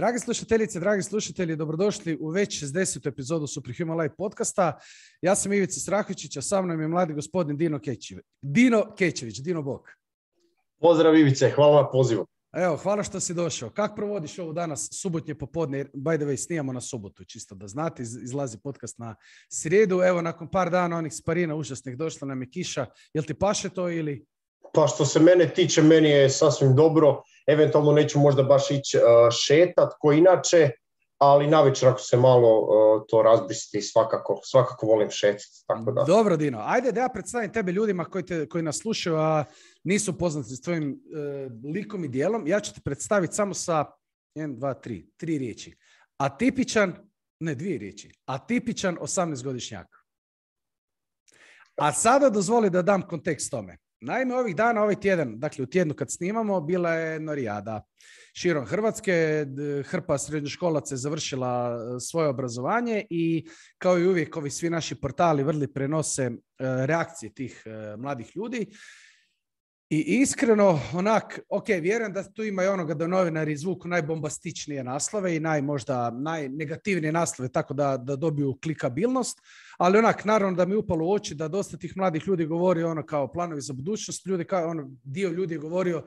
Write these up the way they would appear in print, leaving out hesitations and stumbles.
Dragi slušateljice, dragi slušatelji, dobrodošli u već 60. epizodu Superhuman Live podcasta. Ja sam Ivica Strahovičić, a sa mnom je mladi gospodin Dino Kečević. Dino, bok. Pozdrav Ivice, hvala na pozivu. Evo, hvala što si došao. Kako provodiš ovo danas, subotnje popodne? By the way, snijamo na subotu, čisto da znate, izlazi podcast na srijedu. Evo, nakon par dana onih sparina užasnih došla nam je kiša. Jel ti paše to ili... Pa što se mene tiče, meni je sasvim dobro. Eventualno neću možda baš ići šetat ko inače, ali navečer ako se malo to razbristi, svakako volim šetati. Tako da. Dobro, Dino. Ajde da ja predstavim tebe ljudima koji nas slušaju, a nisu poznati s tvojim likom i dijelom. Ja ću te predstaviti samo sa 3 riječi. Dvije riječi. Atipičan 18-godišnjak. A sada dozvoli da dam kontekst tome. Naime, ovih dana, ovaj tjedan, dakle u tjednu kad snimamo, bila je norijada širom Hrvatske. Hrpa srednjoškolaca je završila svoje obrazovanje i kao i uvijek ovi svi naši portali vrli prenose reakcije tih mladih ljudi. I iskreno, vjerujem da tu ima i onoga da novinari izvuku najbombastičnije naslove i najnegativnije naslove, tako da dobiju klikabilnost. Ali naravno da mi upalo u oči da dosta tih mladih ljudi govori kao planovi za budućnost. Dio ljudi je govorio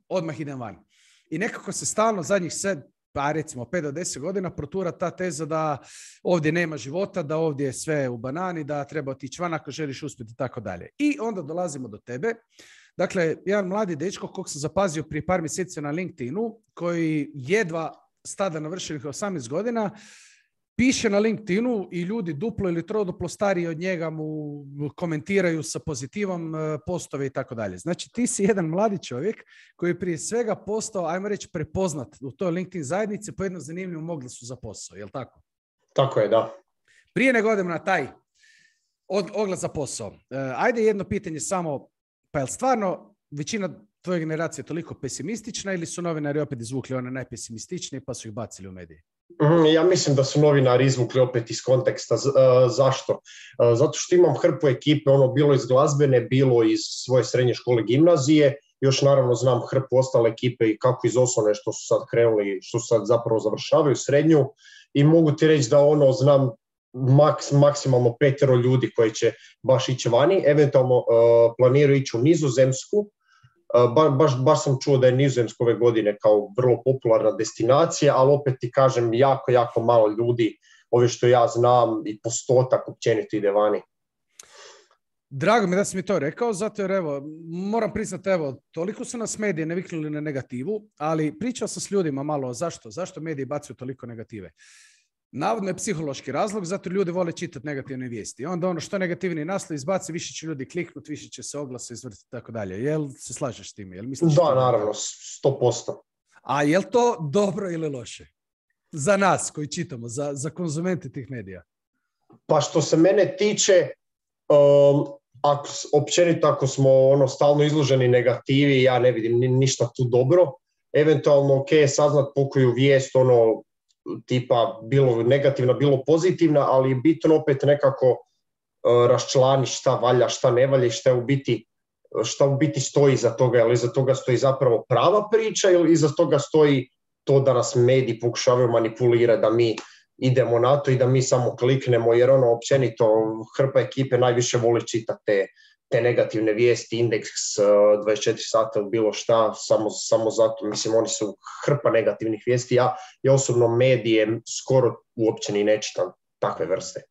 odmah idem van. I nekako se stalno zadnjih 5 do 10 godina protura ta teza da ovdje nema života, da ovdje je sve u banani, da treba otići van ako želiš uspjeti i tako dalje. I onda dolazimo do tebe. Dakle, jedan mladi dečko kog sam zapazio prije par mjeseci na LinkedInu, koji jedva stada navršenih 18 godina, piše na LinkedInu i ljudi duplo ili troduplo stariji od njega mu komentiraju sa pozitivom postove i tako dalje. Znači, ti si jedan mladi čovjek koji je prije svega postao, ajmo reći, prepoznat u toj LinkedIn zajednici po jednom zanimljivom oglasu za posao, je li tako? Tako je, da. Prije nego odem na taj oglas za posao. Ajde jedno pitanje samo, pa je li stvarno većina tvoje generacije toliko pesimistična ili su novinari opet izvukli one najpesimističnije pa su ih bacili u medije? Ja mislim da su novinari izvukli opet iz konteksta. Zašto? Zato što imam hrpu ekipe, bilo iz glazbene, bilo iz svoje srednje škole, gimnazije. Još naravno znam hrpu ostale ekipe i kako iz osnovne što su sad krenuli, što su sad zapravo završavaju srednju. I mogu ti reći da znam maksimalno 5 ljudi koji će baš ići vani. Eventualno planiraju ići u Nizozemsku. Baš sam čuo da je Nizozemska ove godine kao vrlo popularna destinacija, ali opet ti kažem jako malo ljudi, ove što ja znam i postotak općenito ide vani. Drago mi da si mi to rekao, zato jer moram priznati, toliko su nas medije naviknuli na negativu, ali pričao sam s ljudima malo zašto mediji bacaju toliko negative. Navodno je psihološki razlog, zato ljudi vole čitati negativne vijesti. Onda što negativni naslov izbaci, više će ljudi kliknuti, više će se oglasa izvrtiti i tako dalje. Jel se slažeš s tim? Da, naravno, 100%. A je li to dobro ili loše? Za nas koji čitamo, za konzumente tih medija? Pa što se mene tiče, općenito ako smo stalno izloženi negativi, ja ne vidim ništa tu dobro. Eventualno, saznat pokoju vijest, tipa bilo negativna, bilo pozitivna, ali je bitno opet nekako raščlaniti šta valja, šta ne valja i šta u biti stoji iza toga. Ili iza toga stoji zapravo prava priča ili iza toga stoji to da nas mediji pokušavaju manipulirati, da mi idemo na to i da mi samo kliknemo, jer općenito hrpa ekipe najviše voli čitati te negativne vijesti, indeks 24 sata ili bilo šta, samo zato, mislim, oni su hrpa negativnih vijesti. Ja osobno medije skoro uopće ni ne čitam takve vrste.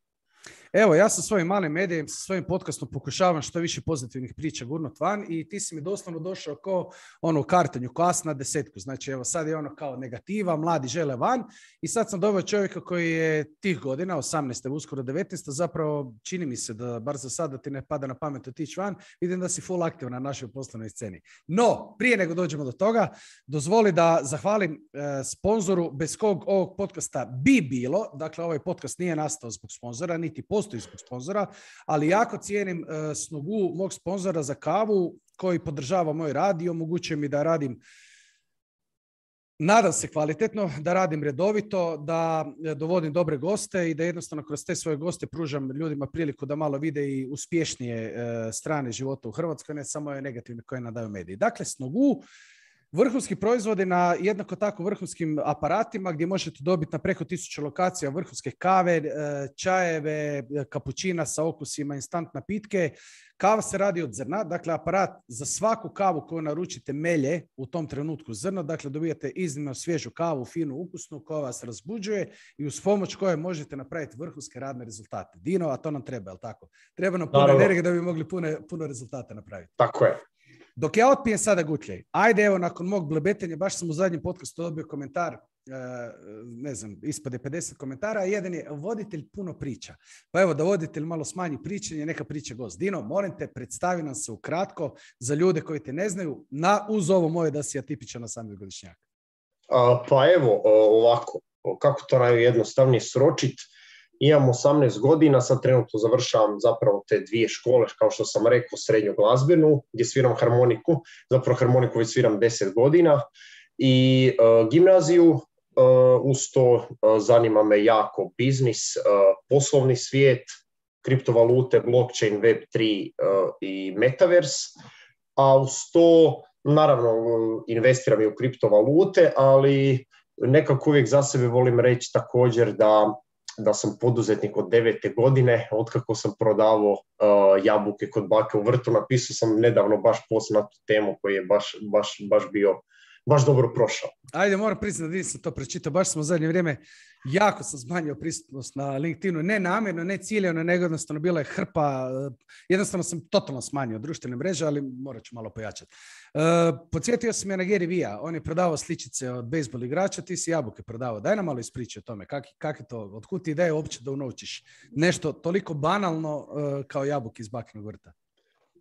Evo, ja sa svojim malim medijem, sa svojim podcastom pokušavam što više pozitivnih priča gurnut van i ti si mi doslovno došao kao u kartanju, kao as na 10. Znači, evo, sad je kao negativa, mladi žele van i sad sam doveo čovjeka koji je tih godina, 18. uskoro 19. zapravo čini mi se da, bar za sada ti ne pada na pamet otići van, vidim da si full aktivan na našoj poslovnoj sceni. No, prije nego dođemo do toga, dozvoli da zahvalim sponzoru bez kog ovog podcasta bi bilo, dakle, ovaj podcast nije nastao zbog sponzora, niti postoji zbog sponzora, ali jako cijenim snogu mog sponzora za kavu koji podržava moj rad i omogućuje mi da radim, nadam se kvalitetno, da radim redovito, da dovodim dobre goste i da jednostavno kroz te svoje goste pružam ljudima priliku da malo vide i uspješnije strane života u Hrvatskoj, ne samo je negativne koje nadaju mediji. Dakle, Snogu vrhunski proizvodi na jednako tako vrhunskim aparatima gdje možete dobiti na preko 1000 lokacija vrhunske kave, čajeve, kapućina sa okusima, instant napitke. Kava se radi od zrna, dakle aparat za svaku kavu koju naručite melje u tom trenutku zrno, dakle dobijate iznimno svježu kavu, finu, ukusnu, koja vas razbuđuje i uz pomoć koje možete napraviti vrhunske radne rezultate. Dino, a to nam treba, jel tako? Treba nam puno energije da bi mogli puno rezultata napraviti. Tako je. Dok ja otpijem sada gutljaj, ajde evo nakon mog blebetenja, baš sam u zadnjem podcastu dobio komentar, ne znam, ispade 50 komentara, a jedan je voditelj puno priča. Pa evo da voditelj malo smanji pričanje, neka priča gost. Dino, molim te, predstavi nam se ukratko za ljude koji te ne znaju, uz ovo moje da si atipičan 18-godišnjak. Pa evo, ovako, kako to najjednostavnije sročiti. Imam 18 godina, sad trenutno završavam zapravo te 2 škole, kao što sam rekao, srednju glazbenu, gdje sviram harmoniku. Zapravo harmoniku već sviram 10 godina. I gimnaziju, uz to zanima me jako biznis, poslovni svijet, kriptovalute, blockchain, web3 i metaverse. A uz to, naravno, investiram i u kriptovalute, ali nekako uvijek za sebe volim reći također da sam poduzetnik od 9. godine, otkako sam prodavao jabuke kod bake u vrtu. Napisao sam nedavno baš post na tu temu koji je baš bio dobro prošao. Ajde, moram priznati da nisam to pročitao, baš sam u zadnje vrijeme jako sam smanjio prisutnost na LinkedInu, ne namjerno, ne ciljano, nego jednostavno bila je hrpa, jednostavno sam totalno smanjio društvene mreže, ali morat ću malo pojačati. Podsjetio sam je na Gary Vee-a, on je prodavao sličice od bejsbol igrača, ti si jabuke prodavao. Daj nam malo ispričaj o tome, kak je to, otkud ti ideja uopće da unovčiš nešto toliko banalno kao jabuke iz bakinog vrta?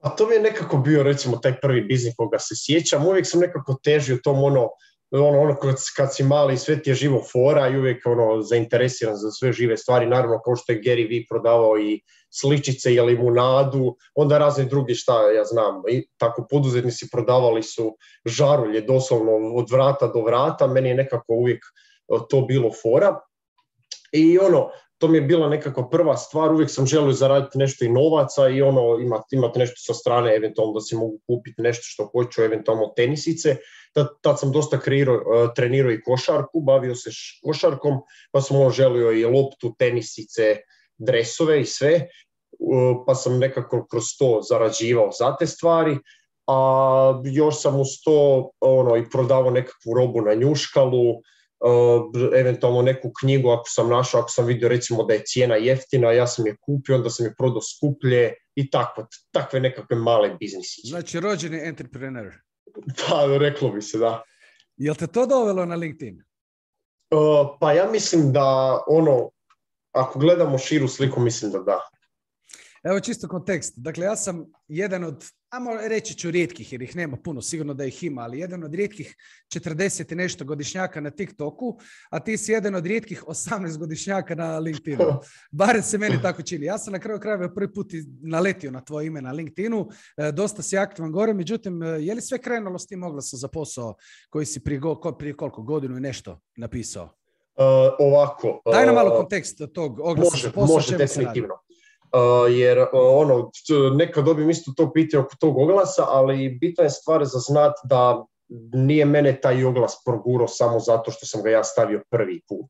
A to mi je nekako bio, recimo, taj prvi biznis koga se sjećam. Uvijek sam nekako težio tom ono kad si mali i sve ti je živo fora i uvijek zainteresiran za sve žive stvari. Naravno, kao što je Gary Vee prodavao i sličice i limunadu, onda razni drugi, šta ja znam, i tako poduzetnici prodavali su žarulje doslovno od vrata do vrata. Meni je nekako uvijek to bilo fora. I to mi je bila nekako prva stvar, uvijek sam želio zaraditi nešto i novaca i imati nešto sa strane, eventualno da si mogu kupiti nešto što hoću, eventualno tenisice. Tad sam dosta trenirao i košarku, bavio se košarkom, pa sam želio i loptu, tenisice, dresove i sve, pa sam nekako kroz to zarađivao za te stvari. A još sam uz to i prodavao nekakvu robu na Njuškalu, eventualno neku knjigu ako sam našao, ako sam vidio recimo da je cijena jeftina, ja sam je kupio, onda sam je prodao skuplje i takve nekakve male biznisiće. Znači rođeni entrepreneur. Pa reklo bi se, da. Jel te to dovelo na LinkedIn? Pa ja mislim da ako gledamo širu sliku, mislim da da. Evo čisto kontekst. Dakle, ja sam jedan od, reći ću rijetkih, jer ih nema puno, sigurno da ih ima, ali jedan od rijetkih 40 i nešto godišnjaka na TikToku, a ti si jedan od rijetkih 18 godišnjaka na LinkedInu. Barem se meni tako čini. Ja sam na kraju krajeva prvi put naletio na tvoje ime na LinkedInu, dosta si aktivan gore, međutim, je li sve krenulo s tim oglasom za posao koji si prije koliko godinu i nešto napisao? Ovako. Daj nam malo kontekst tog oglasa za posao. Može, definitivno. Jer nekad dobijem isto to pitanje oko tog oglasa, ali bitna je stvar za znat da nije mene taj oglas progurao samo zato što sam ga ja stavio prvi put,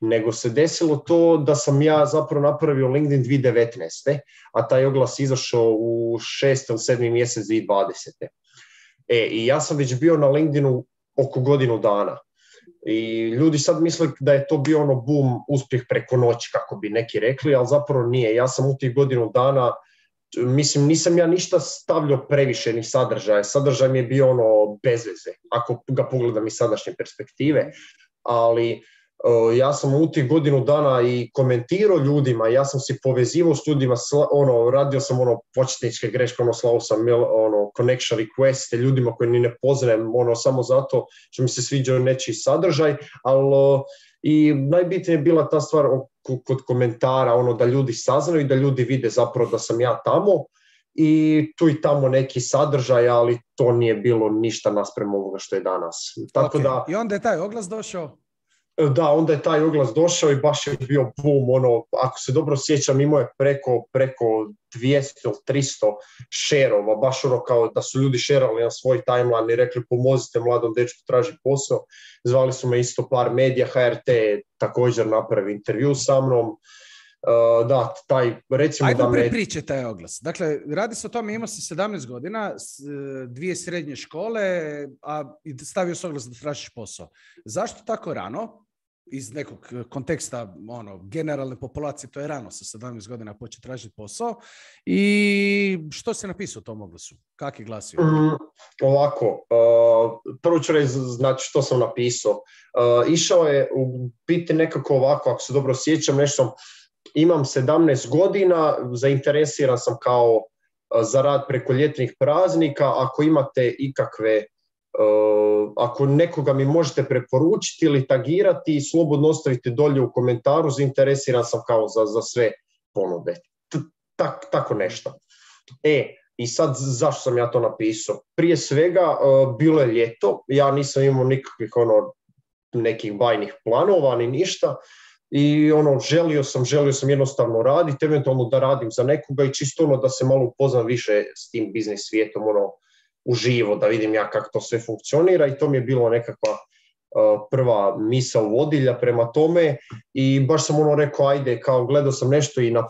nego se desilo to da sam ja zapravo napravio LinkedIn 2019. a taj oglas izašao u 6. 7. mjesec 2020. I ja sam već bio na LinkedInu oko godinu dana. I ljudi sad misle da je to bio boom, uspjeh preko noći, kako bi neki rekli, ali zapravo nije. Ja sam u tih godinu dana, nisam ja ništa stavljao previše ni sadržaja. Sadržaj mi je bio bez veze, ako ga pogledam iz sadašnje perspektive, ali ja sam u tih godinu dana i komentirao ljudima, ja sam se povezivao s ljudima, radio sam početničke greške, slao sam connection requeste ljudima koji ni ne poznajem, samo zato što mi se sviđao nečiji sadržaj, ali i najbitnije je bila ta stvar kod komentara, da ljudi saznaju i da ljudi vide zapravo da sam ja tamo i tu i tamo neki sadržaj, ali to nije bilo ništa naspram ovoga što je danas. Tako okay. da, i onda je taj oglas došao? Da, onda je taj oglas došao i baš je bio boom, ono, ako se dobro sjećam, imao je preko 200, 300 šerova, baš ono kao da su ljudi šerali na svoj timeline i rekli pomozite mladom dečku traži posao. Zvali su me isto par medija, HRT također napravi intervju sa mnom. Da, taj, recimo Ajmo da me... prepričaj taj oglas. Dakle, radi se o tome, imao si 17 godina, 2 srednje škole, a stavio si oglas da tražiš posao. Zašto tako rano? Iz nekog konteksta generalne populacije, to je rano sa 17 godina početi tražiti posao. I što si napisao u tom oglasu? Kak je glasio? Ovako, prvo ću reći znači što sam napisao. Išao je u biti nekako ovako, ako se dobro sjećam, nešto. Imam 17 godina, zainteresiran sam kao za rad preko ljetnih praznika. Ako imate ikakve, ako nekoga mi možete preporučiti ili tagirati, slobodno ostavite dolje u komentaru, zainteresiran sam kao za sve ponude. Tako nešto. I sad zašto sam ja to napisao? Prije svega, bilo je ljeto, ja nisam imao nikakvih nekih bajnih planova ni ništa. I želio sam jednostavno raditi, eventualno da radim za nekoga i čisto da se malo upoznam više s tim biznis svijetom uživo, da vidim ja kako to sve funkcionira i to mi je bilo nekakva prva misao vodilja prema tome i baš sam rekao ajde, kao gledao sam nešto i na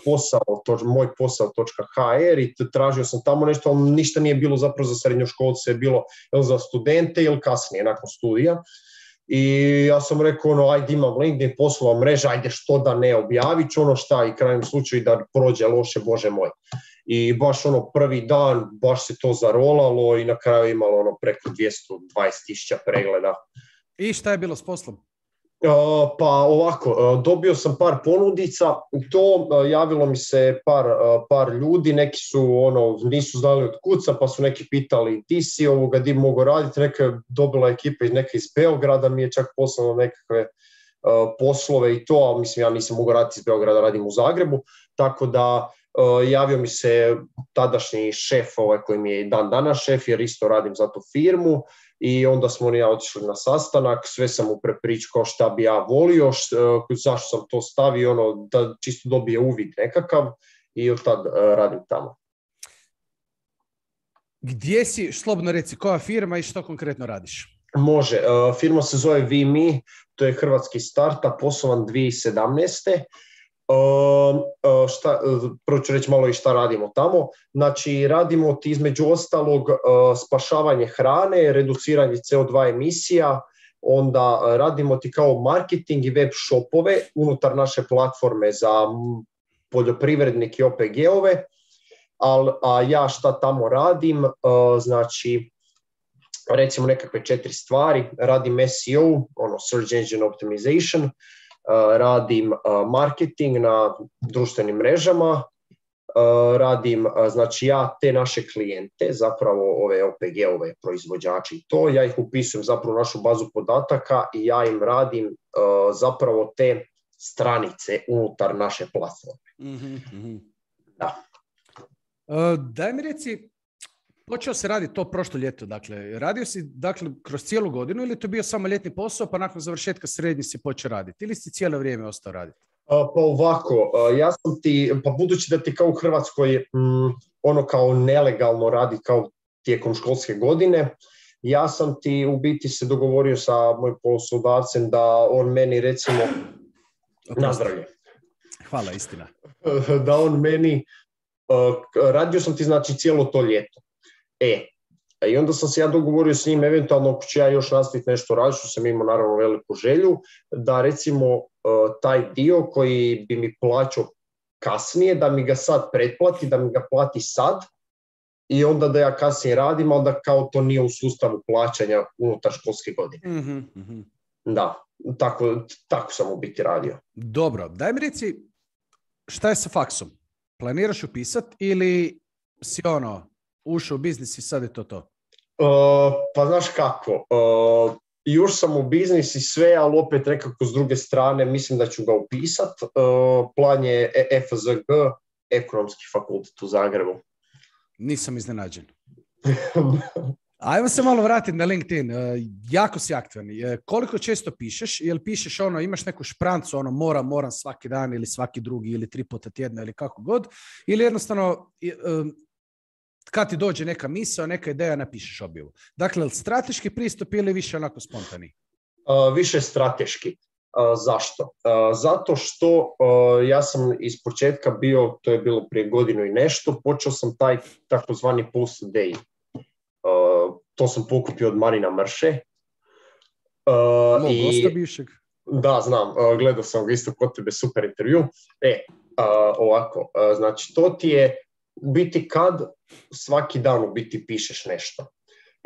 moj posao.hr i tražio sam tamo nešto, ali ništa nije bilo zapravo za srednjoškolce, bilo za studente ili kasnije nakon studija. I ja sam rekao, ajde imam LinkedIn, poslova mreža, ajde što da ne objavit ću šta i krajem slučaju da prođe loše, Bože moj. I baš prvi dan, baš se to zarolalo i na kraju imalo preko 220.000 pregleda. I šta je bilo s poslom? Pa ovako, dobio sam par ponudica, javilo mi se par ljudi, neki su nisu znali od kuca, pa su neki pitali ti si di mogu raditi, neka je dobila ekipa iz Beograda, mi je čak poslala nekakve poslove i to, ali mislim ja nisam mogu raditi iz Beograda, radim u Zagrebu, tako da javio mi se tadašnji šef, koji mi je dan danas šef, jer isto radim za tu firmu. I onda smo on i ja otišli na sastanak, sve sam mu prepričao šta bi ja volio, zašto sam to stavio, da čisto dobije uvid nekakav i od tad radim tamo. Gdje si, slobodno reci, koja firma i što konkretno radiš? Može, firma se zove VMe, to je hrvatski startup, poslovan 2017. Prvo ću reći malo i šta radimo tamo. Znači, radimo između ostalog spašavanje hrane, reduciranje CO2 emisija, onda radimo ti kao marketing i web shopove unutar naše platforme za poljoprivrednike i OPG-ove. A ja šta tamo radim? Znači, recimo nekakve 4 stvari. Radim SEO, Search Engine Optimization, radim marketing na društvenim mrežama, radim, znači ja te naše klijente, zapravo ove OPG-ove proizvođači i to, ja ih upisujem zapravo u našu bazu podataka i ja im radim zapravo te stranice unutar naše platforme. Mm-hmm. Da. Daj mi reci, počeo se raditi to prošlo ljeto, dakle, radio si kroz cijelu godinu ili to bio samo ljetni posao pa nakon završetka srednji si počeo raditi ili si cijelo vrijeme ostao raditi? Pa ovako, ja sam pa budući da ti kao u Hrvatskoj kao nelegalno radi kao tijekom školske godine, ja sam ti u biti se dogovorio sa mojim poslodavcem da on meni recimo nazdravlje. Hvala, istina. Da on meni, radio sam ti znači cijelo to ljeto. I onda sam se ja dogovorio s njim, eventualno ako ću ja još nastaviti nešto raditi, što sam imao naravno veliku želju, da recimo taj dio koji bi mi plaćao kasnije, da mi ga sad pretplati, da mi ga plati sad i onda da ja kasnije radim, ali da kao to nije u sustavu plaćanja unutar školske godine. Mm-hmm. Da, tako sam u biti radio. Dobro, daj mi reci, šta je sa faksom? Planiraš upisat ili si ušao u biznis i sad je to? Pa znaš kako, još sam u biznis i sve, ali opet nekako s druge strane mislim da ću ga upisat. Plan je FZG, Ekonomski fakultet u Zagrebu. Nisam iznenađen. Ajmo se malo vratiti na LinkedIn. Jako si aktivni. Koliko često pišeš? Jel pišeš imaš neku šprancu, moram svaki dan ili svaki drugi ili 3 puta tjedno ili kako god? Ili jednostavno kad ti dođe neka misao, neka ideja, napišeš objavu? Dakle, strateški pristup ili više onako spontani? Više strateški. Zašto? Zato što ja sam iz početka bio, to je bilo prije godinu i nešto, počeo sam taj takozvani post day. To sam pokupio od Marina Mrše. Mog gosta bivšeg. Da, znam, gledao sam ga isto kod tebe, super intervju. Ovako, znači to ti je u biti kad svaki dan u biti pišeš nešto.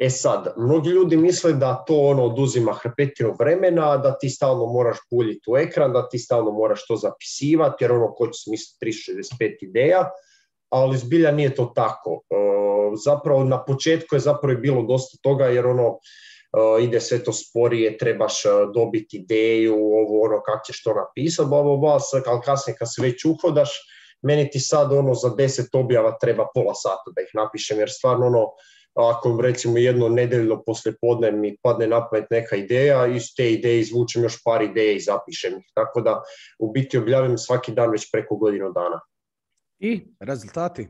Sad, mnogi ljudi misle da to oduzima hrpetinu vremena, da ti stalno moraš buljiti u ekran, da ti stalno moraš to zapisivati, jer ko će smisliti 365 ideja, ali zbilja nije to tako. Zapravo na početku je zapravo bilo dosta toga, jer ide sve to sporije, trebaš dobiti ideju, kako ćeš to napisati, ali kasnije kad se već uhodaš, meni ti sad za 10 objava treba pola sata da ih napišem, jer stvarno ako recimo jedno nedeljno poslijepodne mi padne na pamet neka ideja, iz te ideje izvučem još par ideja i zapišem ih. Tako da u biti objavim svaki dan već preko godinu dana. I rezultati?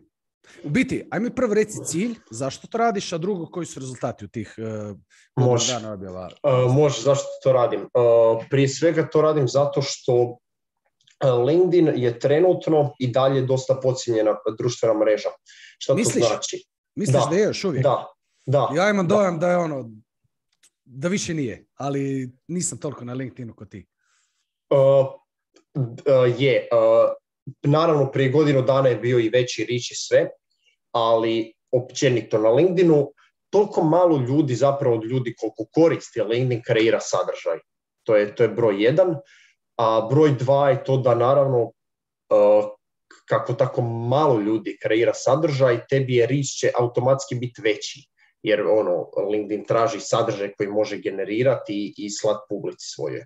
U biti, aj mi prvo reci cilj, zašto to radiš, a drugo koji su rezultati u tih dana objava? Može, zašto to radim? Prije svega to radim zato što LinkedIn je trenutno i dalje dosta podcijenjena društvena mreža. Šta to znači? Misliš da je još uvijek? Da. Ja imam dojam da je da više nije, ali nisam toliko na LinkedInu kod ti. Naravno, prije godinu dana je bio i veći reach i sve, ali općenito na LinkedInu toliko malo ljudi, zapravo od ljudi koliko koristi LinkedIn, kreira sadržaj. To je broj 1, a broj 2 je to da naravno kako tako malo ljudi kreira sadržaj, tebi je reach će automatski biti veći, jer LinkedIn traži sadržaj koji može generirati i slati publici svoje.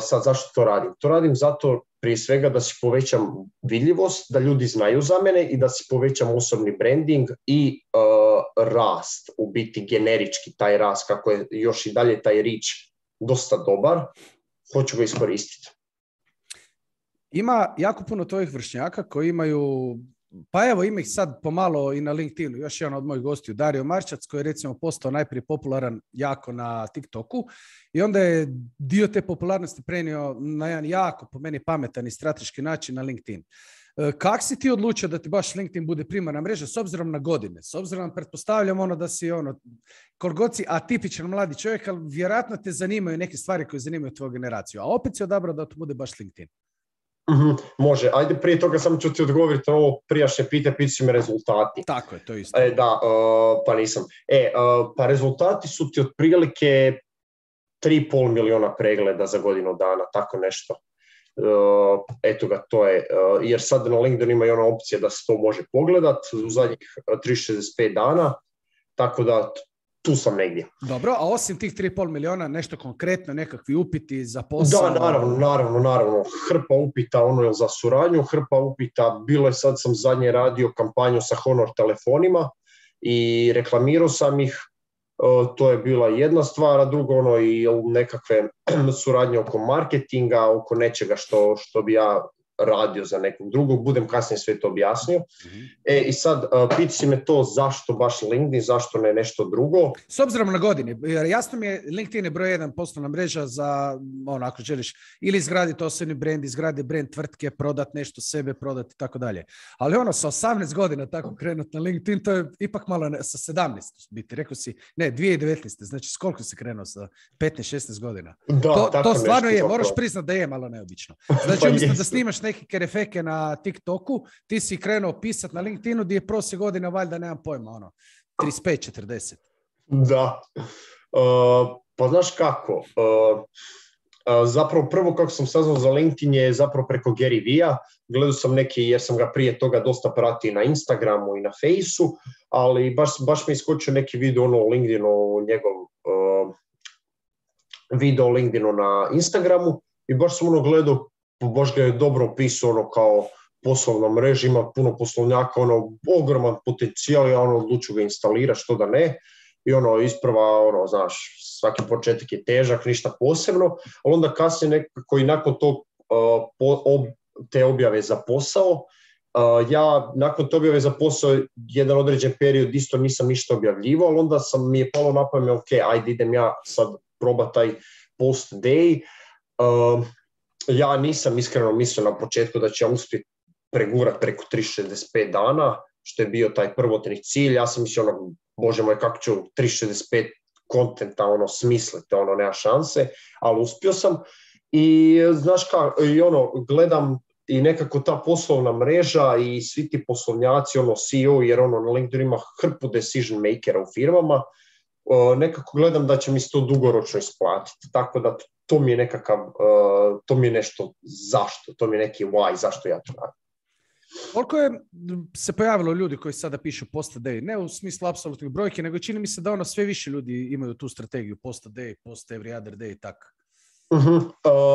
Sad zašto to radim? To radim zato prije svega da si povećam vidljivost, da ljudi znaju za mene i da si povećam osobni branding i rast, u biti generički taj rast, kako je još i dalje taj reach dosta dobar, hoću ga iskoristiti. Ima jako puno tvojih vršnjaka koji imaju, pa evo ima ih sad pomalo i na LinkedInu, još jedan od mojih gostiju, Dario Marčac, koji je recimo postao najprije popularan jako na TikToku i onda je dio te popularnosti prenio na jedan jako, po meni, pametan i strateški način na LinkedIn. Kako si ti odlučio da ti baš LinkedIn bude primarna mreža s obzirom na godine? S obzirom, pretpostavljam da si koliko god si atipičan mladi čovjek, ali vjerojatno te zanimaju neke stvari koje zanimaju tvoju generaciju, a opet si odabrao da to bude baš LinkedIn. Može, ajde prije toga samo ću ti odgovoriti na ovo prijašnje pitanje si me rezultati. Tako je, to je isto. Pa nisam. Pa rezultati su ti otprilike 3,5 miliona pregleda za godinu dana, tako nešto. Eto ga, to je, jer sad na LinkedIn ima i ona opcija da se to može pogledat u zadnjih 365 dana, tako da tu sam negdje. Dobro, a osim tih 3,5 miliona, nešto konkretno, nekakvi upiti za posao? Da, naravno. Hrpa upita za suradnju, hrpa upita, bilo je sad sam zadnje radio kampanju sa Honor telefonima i reklamirao sam ih, to je bila jedna stvar, a drugo i nekakve suradnje oko marketinga, oko nečega što bi ja radio za nekog drugog, budem kasnije sve to objasnio. I sad, piti si me to zašto baš LinkedIn, zašto ne nešto drugo. S obzirom na godine, jer jasno mi je, LinkedIn je broj 1 poslovna mreža za, ako želiš, ili izgraditi osobni brand, izgraditi brand tvrtke, prodati nešto sebe, prodati i tako dalje. Ali sa 18 godina tako krenuti na LinkedIn, to je ipak malo sa 17, biti, rekao si, ne, 2019, znači s koliko si krenuo, sa 15-16 godina? Da, to stvarno je, moraš priznat da je malo neobično. Znači, umjesto da snimaš neke kerefeke na TikToku, ti si krenuo pisati na LinkedInu gdje je prosjek godina, valjda nemam pojma, 35-40. Da. Pa znaš kako? Zapravo prvo kako sam saznao za LinkedIn je zapravo preko Gary Vee-a. Gledao sam neki, jer sam ga prije toga dosta pratio na Instagramu i na Fejsu, ali baš mi je iskočio neki video o LinkedInu, njegov video o LinkedInu na Instagramu i baš sam gledao, baš ga je dobro opisao kao poslovna mreža, ima puno poslovnjaka, ogroman potencijal, ja odluču ga instalirati, što da ne. I isprva, znaš, svaki početak je težak, ništa posebno, ali onda kasnije nekako i nakon tog te objave za posao, ja nakon te objave za posao jedan određen period isto nisam ništa objavljivao, ali onda mi je palo na pamet, ok, ajde idem ja sad probati taj post day. Ja nisam iskreno mislio na početku da će ja uspjeti pregurati preko 365 dana, što je bio taj prvotni cilj. Ja sam mislio, bože moj, kako ću 365 kontenta smisliti, nema šanse, ali uspio sam. I znaš kako, gledam i nekako ta poslovna mreža i svi ti poslovnjaci, CEO, jer na LinkedIn ima hrpu decision makera u firmama, nekako gledam da će mi se to dugoročno isplatiti. Tako da to mi je nekakav, to mi je nešto zašto, to mi je neki why, zašto ja to radim. Koliko je se pojavilo ljudi koji sada pišu post day, ne u smislu apsolutnih brojke, nego čini mi se da sve više ljudi imaju tu strategiju post day, post every other day i tako.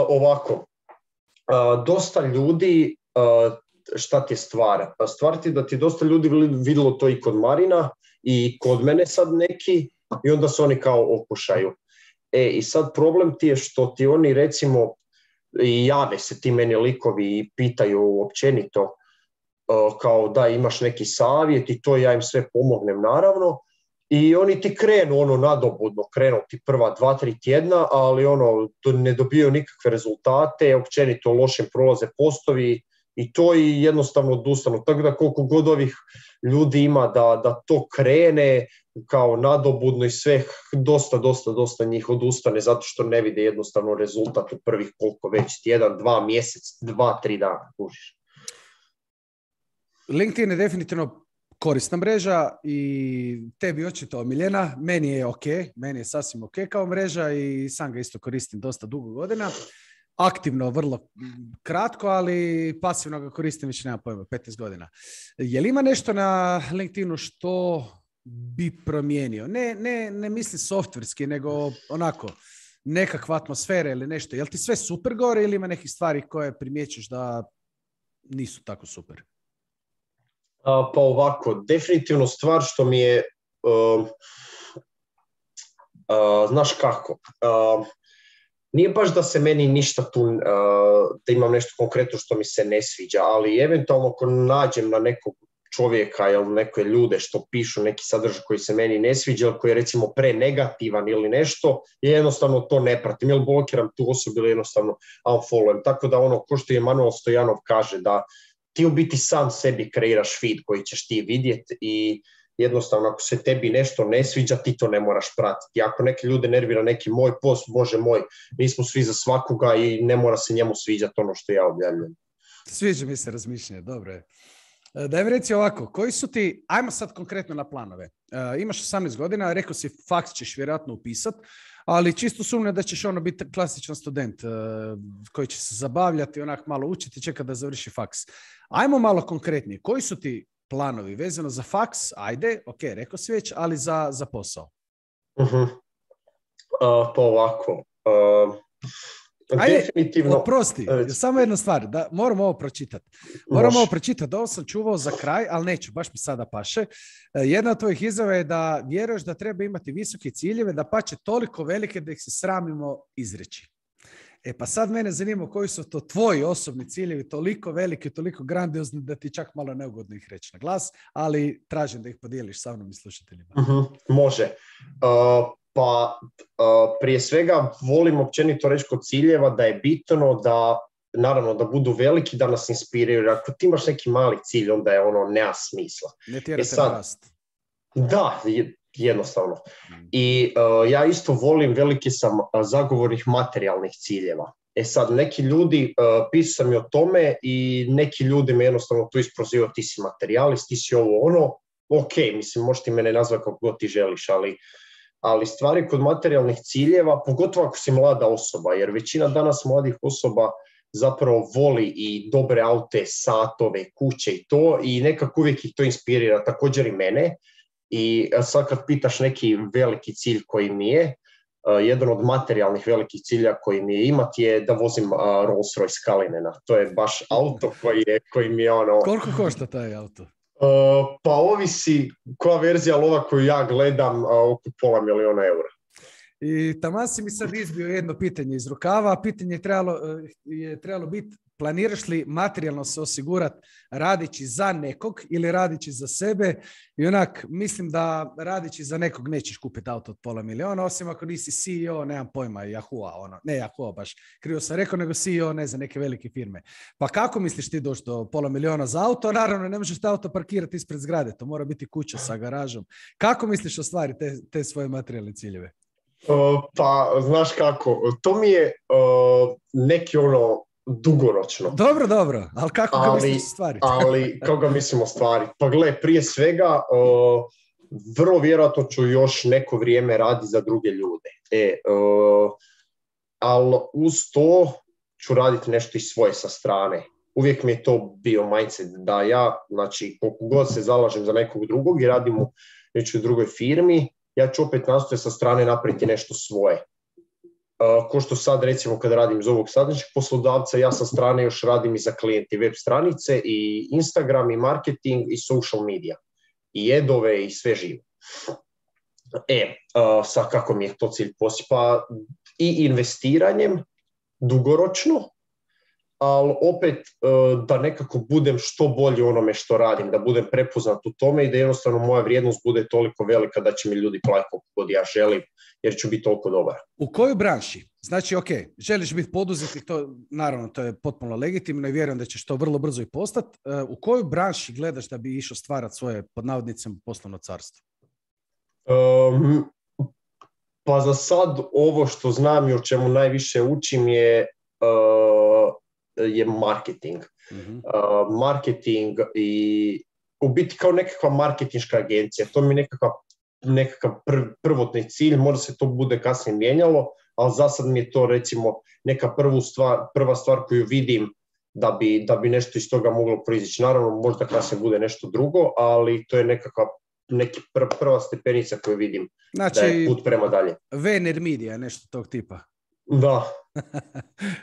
Ovako, dosta ljudi, šta ti je stvar? Stvar ti da ti dosta ljudi vidjelo to i kod Marina i kod mene sad neki i onda se oni kao okušaju. I sad problem ti je što ti oni recimo i jave se ti meni likovi i pitaju općenito kao da imaš neki savjet i to ja im sve pomognem naravno i oni ti krenu nadobudno, krenu ti prva 2-3 tjedna, ali to ne dobijaju nikakve rezultate, općenito lošim prolaze postovi i to i jednostavno odustanu. Tako da koliko god ovih ljudi ima da to krene kao nadobudno i sve, dosta njih odustane zato što ne vide jednostavno rezultat u prvih koliko već tjedan, 2 mjesec, 2-3 dana. Kužiš. LinkedIn je definitivno korisna mreža i tebi očito omiljena. Meni je ok, meni je sasvim ok kao mreža i sam ga isto koristim dosta dugo godina. Aktivno, vrlo kratko, ali pasivno ga koristim već nema pojma, 15 godina. Je li ima nešto na LinkedInu što bi promijenio? Ne mislim softverski, nego onako nekakva atmosfera ili nešto. Je li ti sve super gore ili ima nekih stvari koje primjećuješ da nisu tako super? Pa ovako, definitivno stvar što mi je, znaš kako, nije baš da se meni ništa tu, da imam nešto konkretno što mi se ne sviđa, ali eventualno ako nađem na nekog čovjeka ili neke ljude što pišu neki sadržaj koji se meni ne sviđa ili koji je recimo prenegativan ili nešto, jednostavno to ne pratim ili blokiram tu osobu ili jednostavno unfollowujem. Tako da ko što je Emanuel Stojanov kaže da ti u biti sam sebi kreiraš feed koji ćeš ti vidjeti i jednostavno ako se tebi nešto ne sviđa, ti to ne moraš pratiti. Ako neke ljude nervira neki moj post, bože moj, mi smo svi za svakoga i ne mora se njemu sviđati ono što ja objavljam. Sviđa mi se razmišljanje, dobro je. Daj mi reci ovako, koji su ti, ajmo sad konkretno na planove. Imaš 18 godina, rekao si faks ćeš vjerojatno upisat, ali čisto sumnjam da ćeš biti klasičan student koji će se zabavljati, onak malo učiti, čeka da završi faks. Ajmo malo konkretnije, koji su ti planovi vezano za faks? Ajde, ok, rekao si već, ali za posao. Pa ovako, ajde, definitivno. Oprosti, samo jedna stvar, da, moram ovo pročitati. Ovo pročitati, ovo sam čuvao za kraj, ali neću, baš mi sada paše. Jedna od tvojih izjava je da vjeruješ da treba imati visoke ciljeve, da pače toliko velike da ih se sramimo izreći. Pa sad mene zanima koji su to tvoji osobni ciljevi, toliko veliki, toliko grandiozni da ti čak malo neugodno ih reći na glas, ali tražim da ih podijeliš sa mnom i slušateljima. Može. Pa prije svega volim općenito reći kod ciljeva da je bitno da, naravno, da budu veliki, da nas inspiriraju. Ako ti imaš neki mali cilj, onda je nema smisla. Ne tjerate na rast. Da, jednostavno. I ja isto volim, veliki sam zagovornik materijalnih ciljeva. Sad, neki ljudi, pisao sam i o tome i neki ljudi me jednostavno tu isprozivaju, ti si materijalist, ti si ovo ok, mislim, možeš ti mene nazvati kako god ti želiš, ali stvari kod materijalnih ciljeva, pogotovo ako si mlada osoba, jer većina danas mladih osoba zapravo voli i dobre aute, satove, kuće i to, i nekako uvijek ih to inspirira, također i mene. I sad kad pitaš neki veliki cilj koji mi je, jedan od materijalnih velikih cilja koji mi je imati je da vozim Rolls-Royce Cullinana. To je baš auto koji mi je ono... Koliko košta taj auto? Pa ovisi koja verzija lova koju ja gledam, oko €500,000. I taman si mi sad izbio jedno pitanje iz rukava. Pitanje je trebalo biti, planiraš li materijalno se osigurati radići za nekog ili radići za sebe? I onak, mislim da radići za nekog nećeš kupiti auto od $500,000, osim ako nisi CEO, nemam pojma, Yahoo, ne Yahoo baš, krivo sam rekao, nego CEO, ne znam, neke velike firme. Pa kako misliš ti doći do $500,000 za auto? Naravno, ne možeš te auto parkirati ispred zgrade, to mora biti kuća sa garažom. Kako misliš ostvariti te svoje materijalne ciljeve? Pa, znaš kako, to mi je neki ono dugoročno. Dobro, ali kako ga misliš ostvariti? Ali kako ga mislim ostvariti? Pa gle, prije svega, vrlo vjerojatno ću još neko vrijeme raditi za druge ljude. Ali uz to ću raditi nešto i svoje sa strane. Uvijek mi je to bio mindset da ja, znači, koliko god se zalažem za nekog drugog i radim u nečoj drugoj firmi, ja ću opet nastojati sa strane napraviti nešto svoje. Ko što sad recimo kad radim za ovog sadašnjeg poslodavca, ja sa strane još radim i za klijenti web stranice i Instagram i marketing i social media. I edove i sve živo. Sad kako mi je to cilj postići? Pa i investiranjem dugoročno, ali opet da nekako budem što bolji u onome što radim, da budem prepoznat u tome i da jednostavno moja vrijednost bude toliko velika da će mi ljudi platiti koliko god ja želim, jer ću biti toliko dobar. U kojoj branši? Znači, ok, želiš biti poduzetnik, to naravno to je potpuno legitimno i vjerujem da ćeš to vrlo brzo i postati. U kojoj branši gledaš da bi išao stvarati svoje, pod navodnicima, poslovno carstvo? Pa za sad ovo što znam i o čemu najviše učim je marketing. Mm-hmm. Marketing i u biti kao nekakva marketinška agencija. To mi je nekakav prvotni cilj, možda se to bude kasnije mijenjalo, ali za sad mi je to recimo neka prva stvar koju vidim da bi nešto iz toga moglo proizići. Naravno, možda kasnije bude nešto drugo, ali to je neki prva stepenica koju vidim, znači, da je put prema dalje. Vener Media, nešto tog tipa. Da.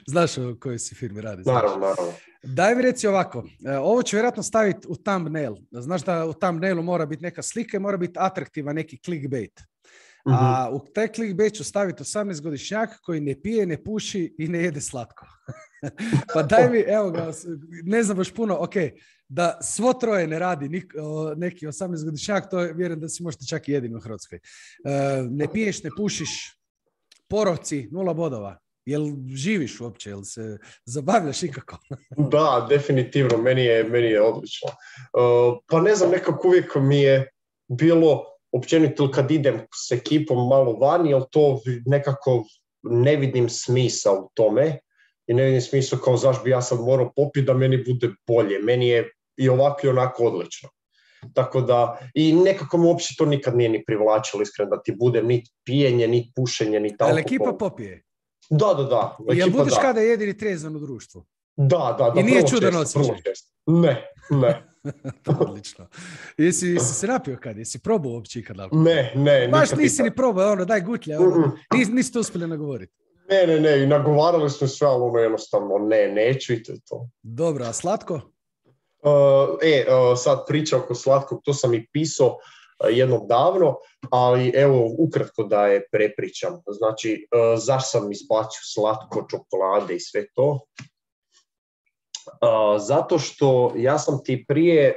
Znaš o kojoj si firmi radi? Naravno. Daj mi reci ovako, ovo ću vjerojatno staviti u thumbnail. Znaš da u thumbnailu mora biti neka slika i mora biti atraktivan neki clickbait. Mm-hmm. A u taj clickbait ću staviti 18-godišnjak koji ne pije, ne puši i ne jede slatko. Pa daj mi, evo ga, ne znam baš puno, ok, da svo troje ne radi neki 18-godišnjak, to vjerujem da si možete čak i jedini u Hrvatskoj. Ne piješ, ne pušiš, porovci, 0 bodova. Jel živiš uopće, jel se zabavljaš ikako? Da, definitivno, meni je odlično. Pa ne znam, nekako uvijek mi je bilo općenito kad idem s ekipom malo vani, jel to nekako ne vidim smisla u tome i ne vidim smisla kao zašto bi ja sad morao popiti da meni bude bolje. Meni je i ovako i onako odlično. Tako da, i nekako me uopće to nikad nije ni privlačilo, iskreno, da ti bude ni pijenje, ni pušenje, ni alkohol. Ali ekipa popije? Da. Jel budeš kada jedini trezan u društvu? Da. I nije čudan osjećaj? Ne. Odlično. Jesi se napio kad? Jesi probao uopće ikad alkohol? Ne. Baš nisi ni probao, daj gutlja, niste uspjeli nagovoriti. Ne, i nagovarali smo sve, ali jednostavno neću i to je to. Dobro, a slatko? Sad priča oko slatkog, to sam i pisao jednom davno, ali evo ukratko da je prepričam. Znači, zašto sam izbacio slatko, čokolade i sve to? Zato što ja sam ti prije,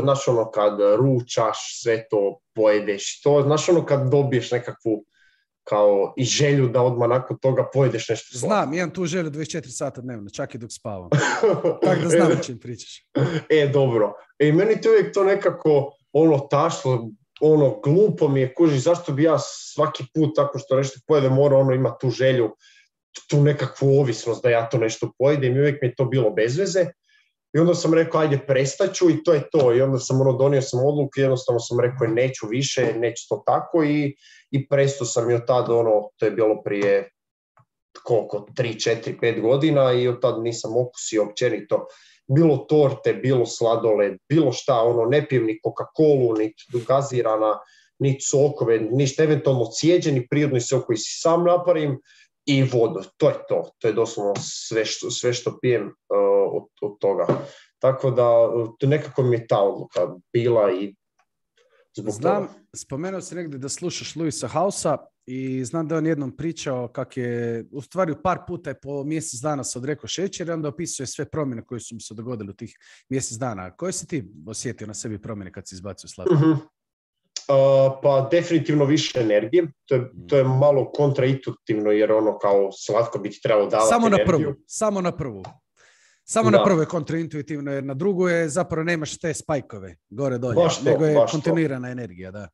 znaš ono kad ručaš, sve to pojedeš, to, znaš ono kad dobiješ nekakvu kao i želju da odmah nakon toga pojedeš nešto slatko. Znam, imam tu želju 24 sata dnevno, čak i dok spavam. Tako da znam o čem pričaš. Dobro. I meni to uvijek to nekako tašlo, glupo mi je, kužiš, zašto bi ja svaki put tako što nešto pojedem morao ima tu želju, tu nekakvu ovisnost da ja to nešto pojedem i uvijek mi je to bilo bez veze. I onda sam rekao, ajde, prestaću i to je to. I onda sam donio sam odluku i jednostavno sam rekao, neću više, neću to tako i prestao sam i od tada, to je bilo prije koliko, 3, 4, 5 godina i od tada nisam okusio općenito. Bilo torte, bilo sladoled, bilo šta, ne pijem ni Coca-Colu, ni gazirana, ni sokove, ništa, eventualno cijeđeni prirodni sok koji si sam napravim i vodu. To je to. To je doslovno sve što pijem od toga. Tako da nekako mi je ta odluka bila i zbog toga. Spomenuo si negdje da slušaš Louisa Housea i znam da on jednom pričao kak je, u stvari par puta je po mjesec dana se odrekao šećera i onda opisuje sve promjene koje su mu se dogodile u tih mjesec dana. Koje si ti osjetio na sebi promjene kad si izbacio slatko? Pa definitivno više energije. To je malo kontraintuitivno jer ono kao slatko bi ti trebalo davati energiju. Samo na prvu je kontraintuitivno jer na drugu je zapravo nemaš te spajkove gore dolje, nego je kontinuirana energija. Da.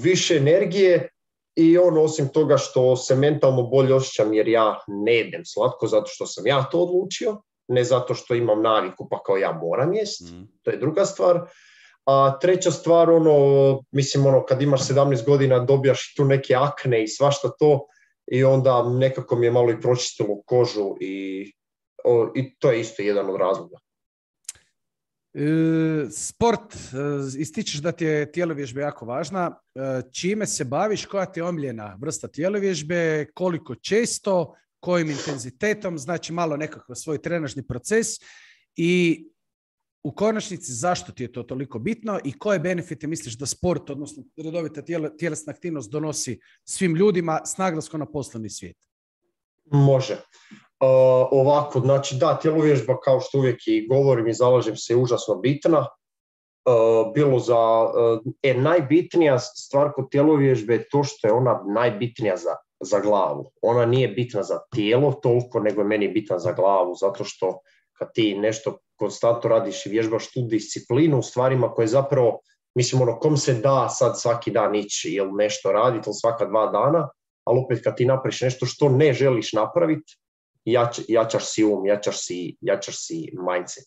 Više energije i osim toga što se mentalno bolje osjećam jer ja ne jedem slatko zato što sam ja to odlučio, ne zato što imam naviku pa kao ja moram jest, to je druga stvar. A treća stvar, kad imaš 17 godina dobijaš tu neke akne i svašta to i onda nekako mi je malo i pročistilo kožu i to je isto jedan od razloga. Sport, ističeš da ti je tjelovježba jako važna. Čime se baviš, koja ti je omiljena vrsta tjelovježbe, koliko često, kojim intenzitetom, znači malo nekakav svoj trenažni proces i u konačnici zašto ti je to toliko bitno i koje benefite misliš da sport, odnosno redovita tjelesna aktivnost donosi svim ljudima s naglaskom na poslovni svijet? Može. Ovako, znači da, tjelovježba kao što uvijek i govorim i zalažem se je užasno bitna. Bilo najbitnija stvar kod tjelovježbe je to što je ona najbitnija za glavu. Ona nije bitna za tijelo toliko, nego je meni bitna za glavu, zato što kad ti nešto konstantno radiš i vježbaš tu disciplinu u stvarima koje zapravo, kom se da sad svaki dan ići ili nešto raditi ili svaka 2 dana, ali opet kad ti napraviš nešto što ne želiš napraviti, jačaš si jačaš si mindset.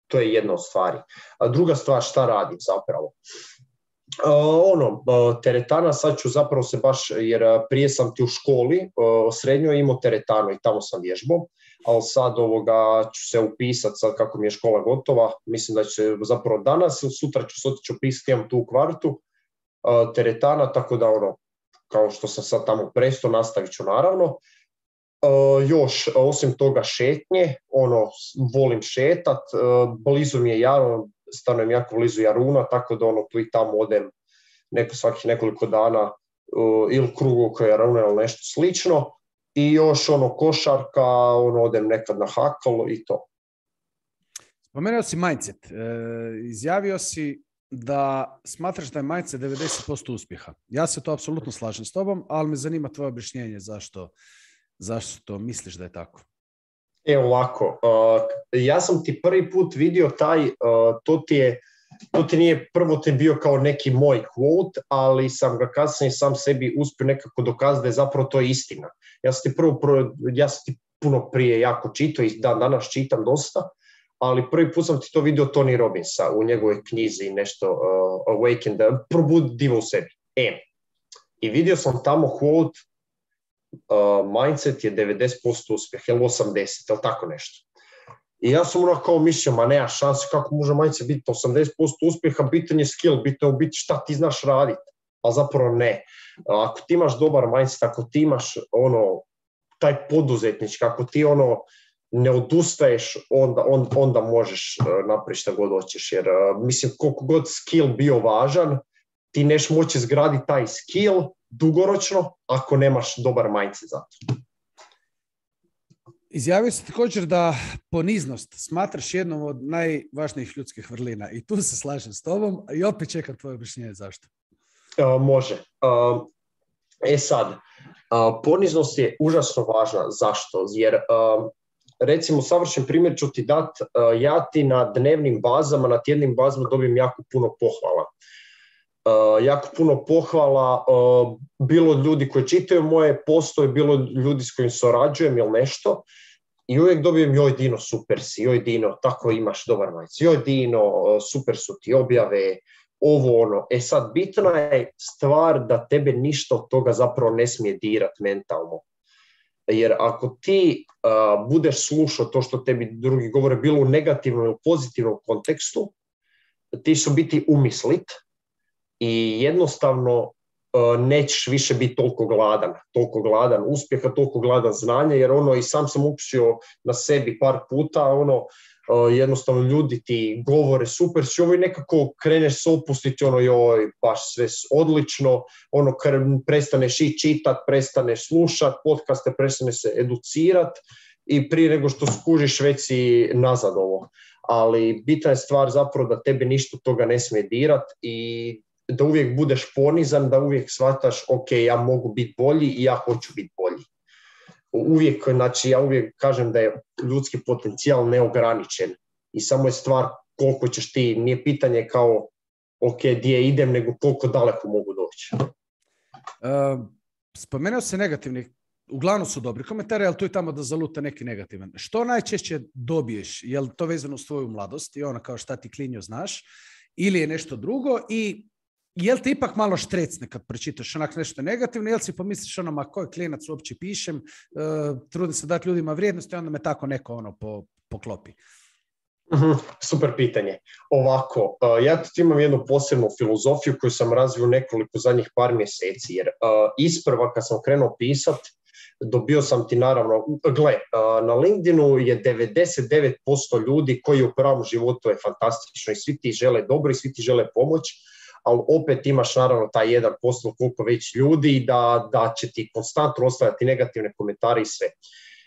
To je jedna od stvari. A druga stvar, šta radim zapravo? Teretana, sad ću zapravo se baš, jer prije sam ti u školi srednjoj imao teretanu i tamo sam vježbao, ali sad ću se upisati, sad kako mi je škola gotova, mislim da će se zapravo danas ili sutra ću se otići upisati, imam tu u kvartu teretana, tako da kao što sam sad tamo prestao, nastavit ću naravno. Još, osim toga šetnje, volim šetat, blizu mi je Jarun, stanujem jako blizu Jaruna, tako da tu i tamo odem svakih nekoliko dana ili krugu oko Jaruna ili nešto slično. I još košarka, odem nekad na hakl i to. Spomenuo si mindset. Izjavio si da smatraš da je mindset 90% uspjeha. Ja se to apsolutno slažem s tobom, ali me zanima tvoje objašnjenje zašto misliš da je tako. Ovako, ja sam ti prvi put vidio to ti nije prvo ti bio kao neki moj quote, ali sam ga kasnije sam sebi uspio nekako dokazati da je zapravo to istina. Ja sam ti puno prije jako čitao i danas čitam dosta, ali prvi put sam ti to vidio Tony Robbinsa u njegovoj knjizi nešto Awaken, probudi divo u sebi. I vidio sam tamo quote mindset je 90% uspjeh, ili 80%, ili tako nešto. I ja sam kao mislio, ma nema šanse kako može mindset biti 80% uspjeha, bitan je skill, bitno je biti šta ti znaš raditi, a zapravo ne. Ako ti imaš dobar mindset, ako ti imaš taj poduzetnički, ako ti ne odustaješ, onda možeš napraviti šta god hoćeš, jer mislim koliko god skill bio važan, ti neš moći izgraditi taj skill dugoročno ako nemaš dobar mindset za to. Izjavio se također da poniznost smatraš jednom od najvažnijih ljudskih vrlina i tu se slažem s tobom i opet čekam tvoje objašnjenje zašto. Može. Poniznost je užasno važna. Zašto? Jer recimo savršen primjer ću ti dati, ja ti na dnevnim bazama, na tjednim bazama dobijem jako puno pohvala. Bilo ljudi koji čitaju moje postoje, bilo ljudi s kojim surađujem ili nešto i uvijek dobijem joj Dino super si, joj Dino tako imaš dobar majc, joj Dino super su ti objave, sad bitna je stvar da tebe ništa od toga zapravo ne smije dirati mentalno. Jer ako ti budeš slušao to što tebi drugi govore bilo u negativnom ili pozitivnom kontekstu, ti su biti umislit i jednostavno nećeš više biti toliko gladan uspjeha, toliko gladan znanja, jer ono, i sam sam učio na sebi par puta, ono, jednostavno ljudi ti govore super si ovo i nekako kreneš se opustiti, ono, joj, baš sve odlično, ono, prestaneš i čitat, prestaneš slušat podcaste, prestaneš se educirat i prije nego što skužiš već si nazad ovo. Ali bitna je stvar zapravo da tebe ništa toga ne smije dirat i da uvijek budeš ponizan, da uvijek shvataš, ok, ja mogu biti bolji i ja hoću biti bolji. Uvijek, znači ja uvijek kažem da je ljudski potencijal neograničen i samo je stvar koliko ćeš ti, nije pitanje kao ok, gdje idem, nego koliko daleko mogu doći. Spomenuo se negativni, uglavnom su dobri komentari, ali tu i tamo da zaluta neki negativan. Što najčešće dobiješ? Je li to vezano s tvoju mladost i ono kao šta ti klinjo znaš? Ili je nešto drugo? I je li ti ipak malo štrecne kad pročitaš onak nešto negativno? Je li si pomisliš ono, ma koji klinac uopće pišem, trudim se dati ljudima vrijednost i onda me tako neko ono poklopi? Super pitanje. Ovako, ja tu imam jednu posebnu filozofiju koju sam razvio nekoliko zadnjih par mjeseci, jer isprva kad sam krenuo pisat, dobio sam ti naravno, na LinkedInu je 99% ljudi koji u pravom životu je fantastično i svi ti žele dobro i svi ti žele pomoć, ali opet imaš naravno taj 1% koliko već ljudi da će ti konstantno ostavljati negativne komentare i sve.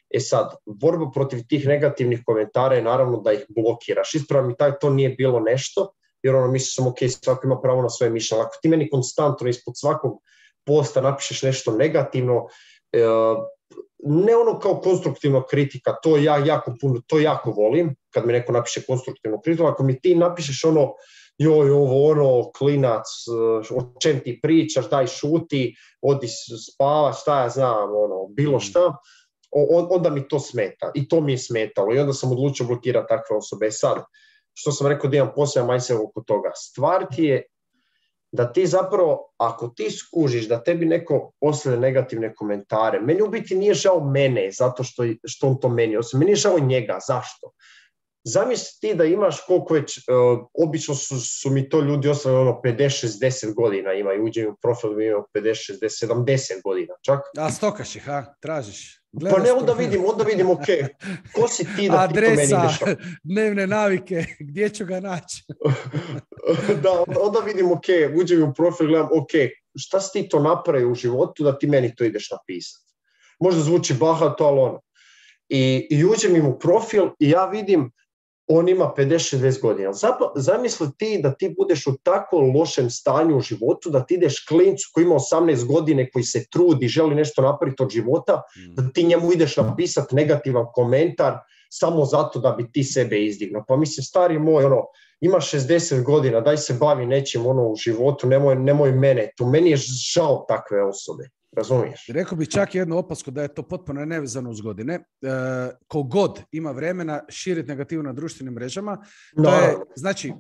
E sad, borba protiv tih negativnih komentara je naravno da ih blokiraš. Ispravo mi to nije bilo nešto, jer ono misliš sam ok, svako ima pravo na svoje mišljenje. Ako ti meni konstantno ispod svakog posta napišeš nešto negativno, ne ono kao konstruktivna kritika, to ja jako volim, kad mi neko napiše konstruktivnu kritiku, ako mi ti napišeš ono, joj, ovo, ono, klinac, o čem ti pričaš, daj šuti, odi spava, šta ja znam, ono, bilo šta, onda mi to smeta. I to mi je smetalo. I onda sam odlučio blokirati takve osobe. Sad, što sam rekao da imam poseban mindset oko toga. Stvar ti je da ti zapravo, ako ti skužiš da tebi neko pošalje negativne komentare, meni u biti nije žao mene zato što on to meni, osim meni je žao njega. Zašto? Zamisli ti da imaš koliko već, obično su mi to ljudi ostavili ono 50-60 godina imaju, uđe u profil imaju 50-60, 70 godina čak. A stokaš ih, tražiš? Pa ne, onda vidim, ok, ko si ti da adresa, ti to meni ideš? dnevne navike, gdje ću ga naći? Da, onda vidim, ok, uđem u profil, gledam, ok, šta si ti to napravio u životu da ti meni to ideš napisati? Možda zvuči bahato, ali ono. I uđem im u profil i ja vidim, on ima 50-60 godina. Zamisli ti da ti budeš u tako lošem stanju u životu, da ti ideš klincu koji ima 18 godine, koji se trudi, želi nešto napraviti od života, da ti njemu ideš napisati negativan komentar samo zato da bi ti sebe izdignuo. Pa mislim, stari moj, ono, ima 60 godina, daj se bavi nečim ono u životu, nemoj mene. To meni je žao takve osobe. Razumiješ? Rekao bih čak jednu opasku da je to potpuno nevezano uz godine. Kogod ima vremena širiti negativu na društvenim mrežama, to je, znači,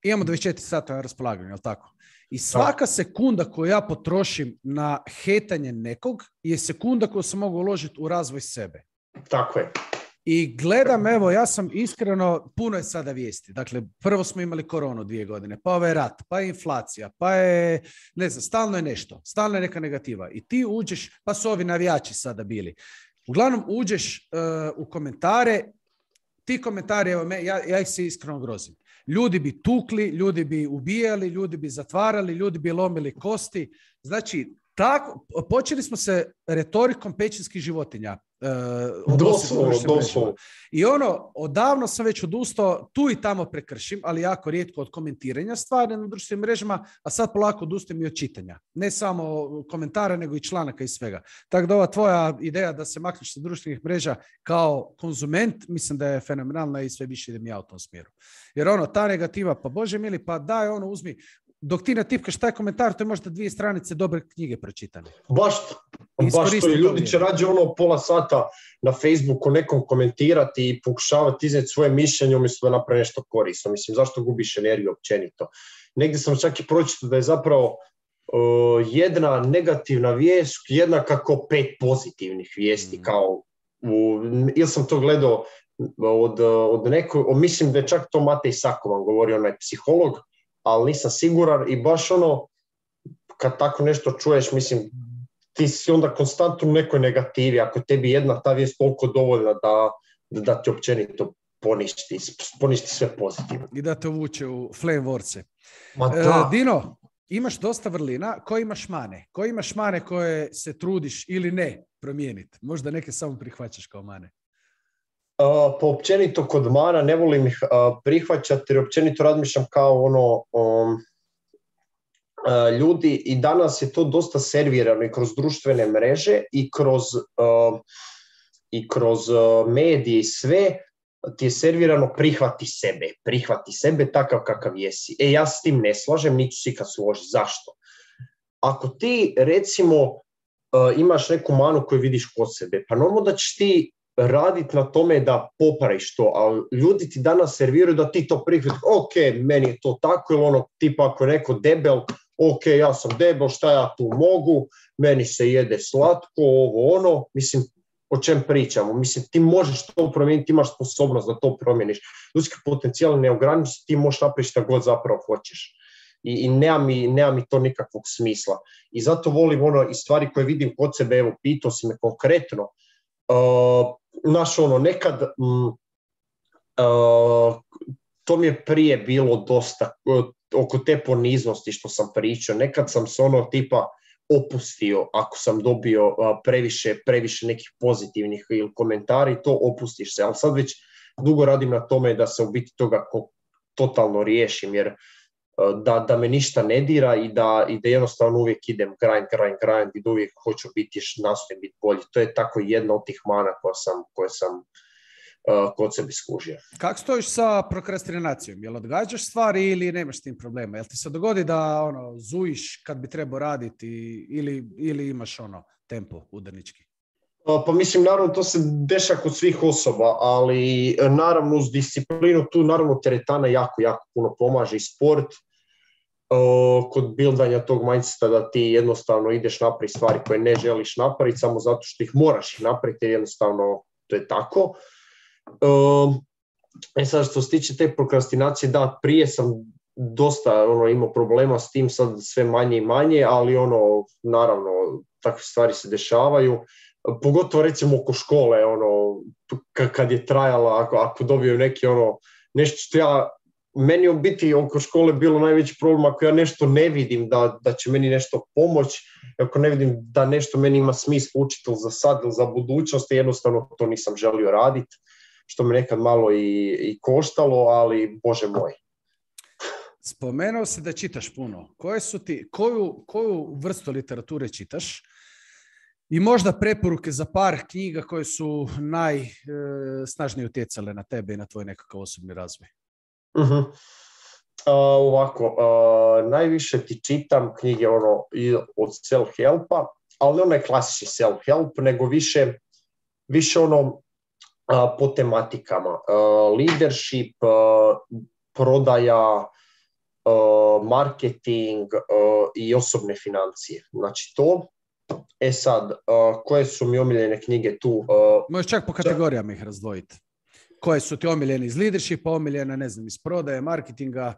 imamo 24 sata na raspolaganju, jel tako? I svaka sekunda koju ja potrošim na hetanje nekog je sekunda koju sam mogu uložiti u razvoj sebe. Tako je. I gledam, evo, ja sam iskreno, puno je sada vijesti. Dakle, prvo smo imali koronu 2 godine, pa ovaj rat, pa je inflacija, pa je, ne znam, stalno je nešto, stalno je neka negativa. I ti uđeš, pa su ovi navijači sada bili. Uglavnom, uđeš u komentare, ti komentari, evo, ja ih se iskreno grozim. Ljudi bi tukli, ljudi bi ubijali, ljudi bi zatvarali, ljudi bi lomili kosti. Znači, tako, počeli smo se retorikom pećinskih životinjih. Doslovno. I ono, odavno sam već odustao, tu i tamo prekršim, ali jako rijetko od komentiranja stvari na društvenim mrežama, a sad polako odustajem i od čitanja. Ne samo komentara, nego i članaka i svega. Tako da ova tvoja ideja da se makneš sa društvenih mreža kao konzument, mislim da je fenomenalna i sve više idem ja u tom smjeru. Jer ono, ta negativa, pa Bože mili, pa daj ono, uzmi, dok ti natipkaš taj komentar, to je možda 2 stranice dobre knjige pročitane. Baš to, i ljudi će rađe ono pola sata na Facebooku nekom komentirati i pokušavati iznijeti svoje mišljenje umjesto da napravi nešto korisno. Mislim, zašto gubiš energiju općenito? Negdje sam čak i pročitao da je zapravo jedna negativna vijest jednaka kao 5 pozitivnih vijesti. Ili sam to gledao od nekog, mislim da je čak to Matej Sakovan govorio, onaj psiholog, ali nisam siguran i baš ono, kad tako nešto čuješ, mislim, ti si onda konstantno u nekoj negativi, ako tebi jedna ta vijest toliko dovoljna da ti općenito poništi sve pozitivno. I da te uvuče u flame vorce. Ma da. Dino, imaš dosta vrlina, koje imaš mane? Koje imaš mane koje se trudiš ili ne promijeniti? Možda neke samo prihvaćaš kao mane. Pa općenito kod mana ne volim ih prihvaćati jer općenito razmišljam kao ljudi i danas je to dosta servirano i kroz društvene mreže i kroz medije i sve ti je servirano prihvati sebe takav kakav jesi. Ja s tim ne slažem, niću si kad složiti. Zašto? Ako ti recimo imaš neku manu koju vidiš kod sebe, pa normalno da ćeš ti raditi na tome da popraviš to, ali ljudi ti danas serviraju da ti to prihvatiš, ok, meni je to tako, ili tipa ako je neko debel, ok, ja sam debel, šta ja tu mogu, meni se jede slatko, mislim, o čem pričamo, mislim, ti možeš to promijeniti, ti imaš sposobnost da to promijeniš, ljudski potencijal ne ograniči, ti možeš napraviti šta god zapravo hoćeš. I nema mi to nikakvog smisla. I zato volim i stvari koje vidim kod sebe, evo, pitao si me konkretno, nekad to mi je prije bilo dosta oko te poniznosti što sam pričao, nekad sam se tipa opustio ako sam dobio previše nekih pozitivnih ili komentari, to opustiš se, ali sad već dugo radim na tome da se u biti toga totalno riješim, jer da me ništa ne dira i da jednostavno uvijek idem grind i da uvijek hoću nastojim biti bolji. To je tako jedna od tih mana koje sam kod sebe skužio. Kako stojiš sa prokrastinacijom? Jel odgađaš stvari ili nemaš s tim problema? Jel ti se dogodi da zujiš kad bi trebao raditi ili imaš tempo udarnički? Pa mislim, naravno, to se dešava kod svih osoba, ali naravno uz disciplinu tu naravno teretana jako puno pomaže i sport kod bildanja tog mindseta da ti jednostavno ideš napraviti stvari koje ne želiš napraviti samo zato što ih moraš napraviti jer jednostavno to je tako. Sad što se tiče te prokrastinacije, da, prije sam dosta imao problema s tim, sad sve manje i manje, ali naravno takve stvari se dešavaju. Pogotovo recimo oko škole, kad je trajala, ako dobiju neki nešto što meni u biti oko škole bilo najveći problem ako ja nešto ne vidim da će meni nešto pomoći, ako ne vidim da nešto meni ima smisla učiti za sad ili za budućnost, jednostavno to nisam želio raditi, što me nekad malo i koštalo, ali Bože moj. Spomenuo si da čitaš puno. Koju vrstu literature čitaš? I možda preporuke za par knjiga koje su najsnažnije utjecale na tebe i na tvoj nekakav osobni razvoj. Uh-huh. Najviše ti čitam knjige od self-helpa, ali ne onaj klasični self-help, nego više po tematikama. Leadership, prodaja, marketing i osobne financije. Znači to. Sad, koje su mi omiljene knjige tu? Možeš čak po kategorijama ih razdvojiti. Koje su ti omiljene iz leadershipa, omiljene, ne znam, iz prodaje, marketinga?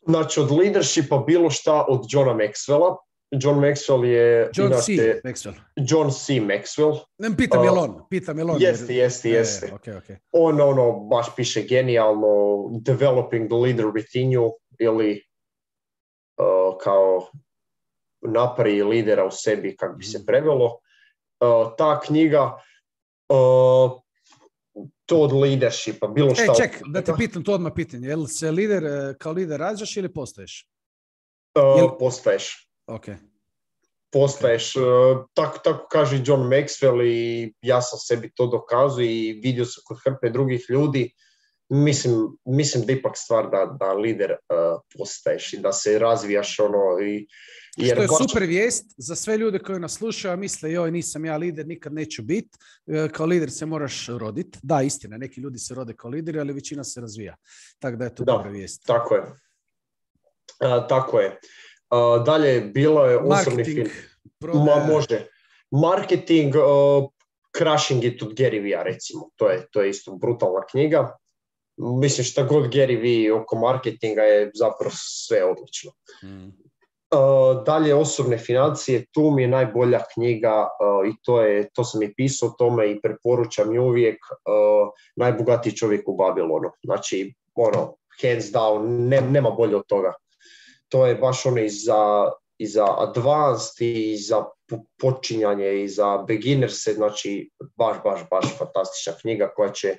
Znači, od leadershipa bilo šta od Johna Maxwella. John Maxwell je... John C. Maxwell. Ne, pitam je on. Jeste. Okay. On baš piše genijalno Developing the Leader Within You ili kao napravi lidera u sebi, kako bi se prevelo. Ta knjiga, to od leadershipa, bilo šta... Ček, da te pitam to odmah pitanje. Jel se kao lider rađaš ili postaješ? Postaješ. Ok. Postaješ. Tako kaže John Maxwell i ja sam sebi to dokazao i vidio sam kod hrpe drugih ljudi. Mislim da ipak stvar da lider postaješ i da se razvijaš što je super vijest za sve ljude koji nas slušaju, a misle joj nisam ja lider, nikad neću biti. Kao lider se moraš roditi. Da, istina, neki ljudi se rode kao lideri, ali većina se razvija. Tako da je to dobra vijest. Tako je. Dalje, bilo je osobni film. Može. Marketing, Crushing It od Gary Vee-a, recimo. To je isto brutalna knjiga. Mislim, šta god Gary Vee oko marketinga je zapravo sve odlično. Dalje osobne financije, tu mi je najbolja knjiga i to sam i pisao o tome i preporučam je uvijek, Najbogatiji čovjek u Babilonu. Znači, hands down, nema bolje od toga. To je baš i za advanced i za počinjanje i za beginnerse, znači baš fantastična knjiga koja će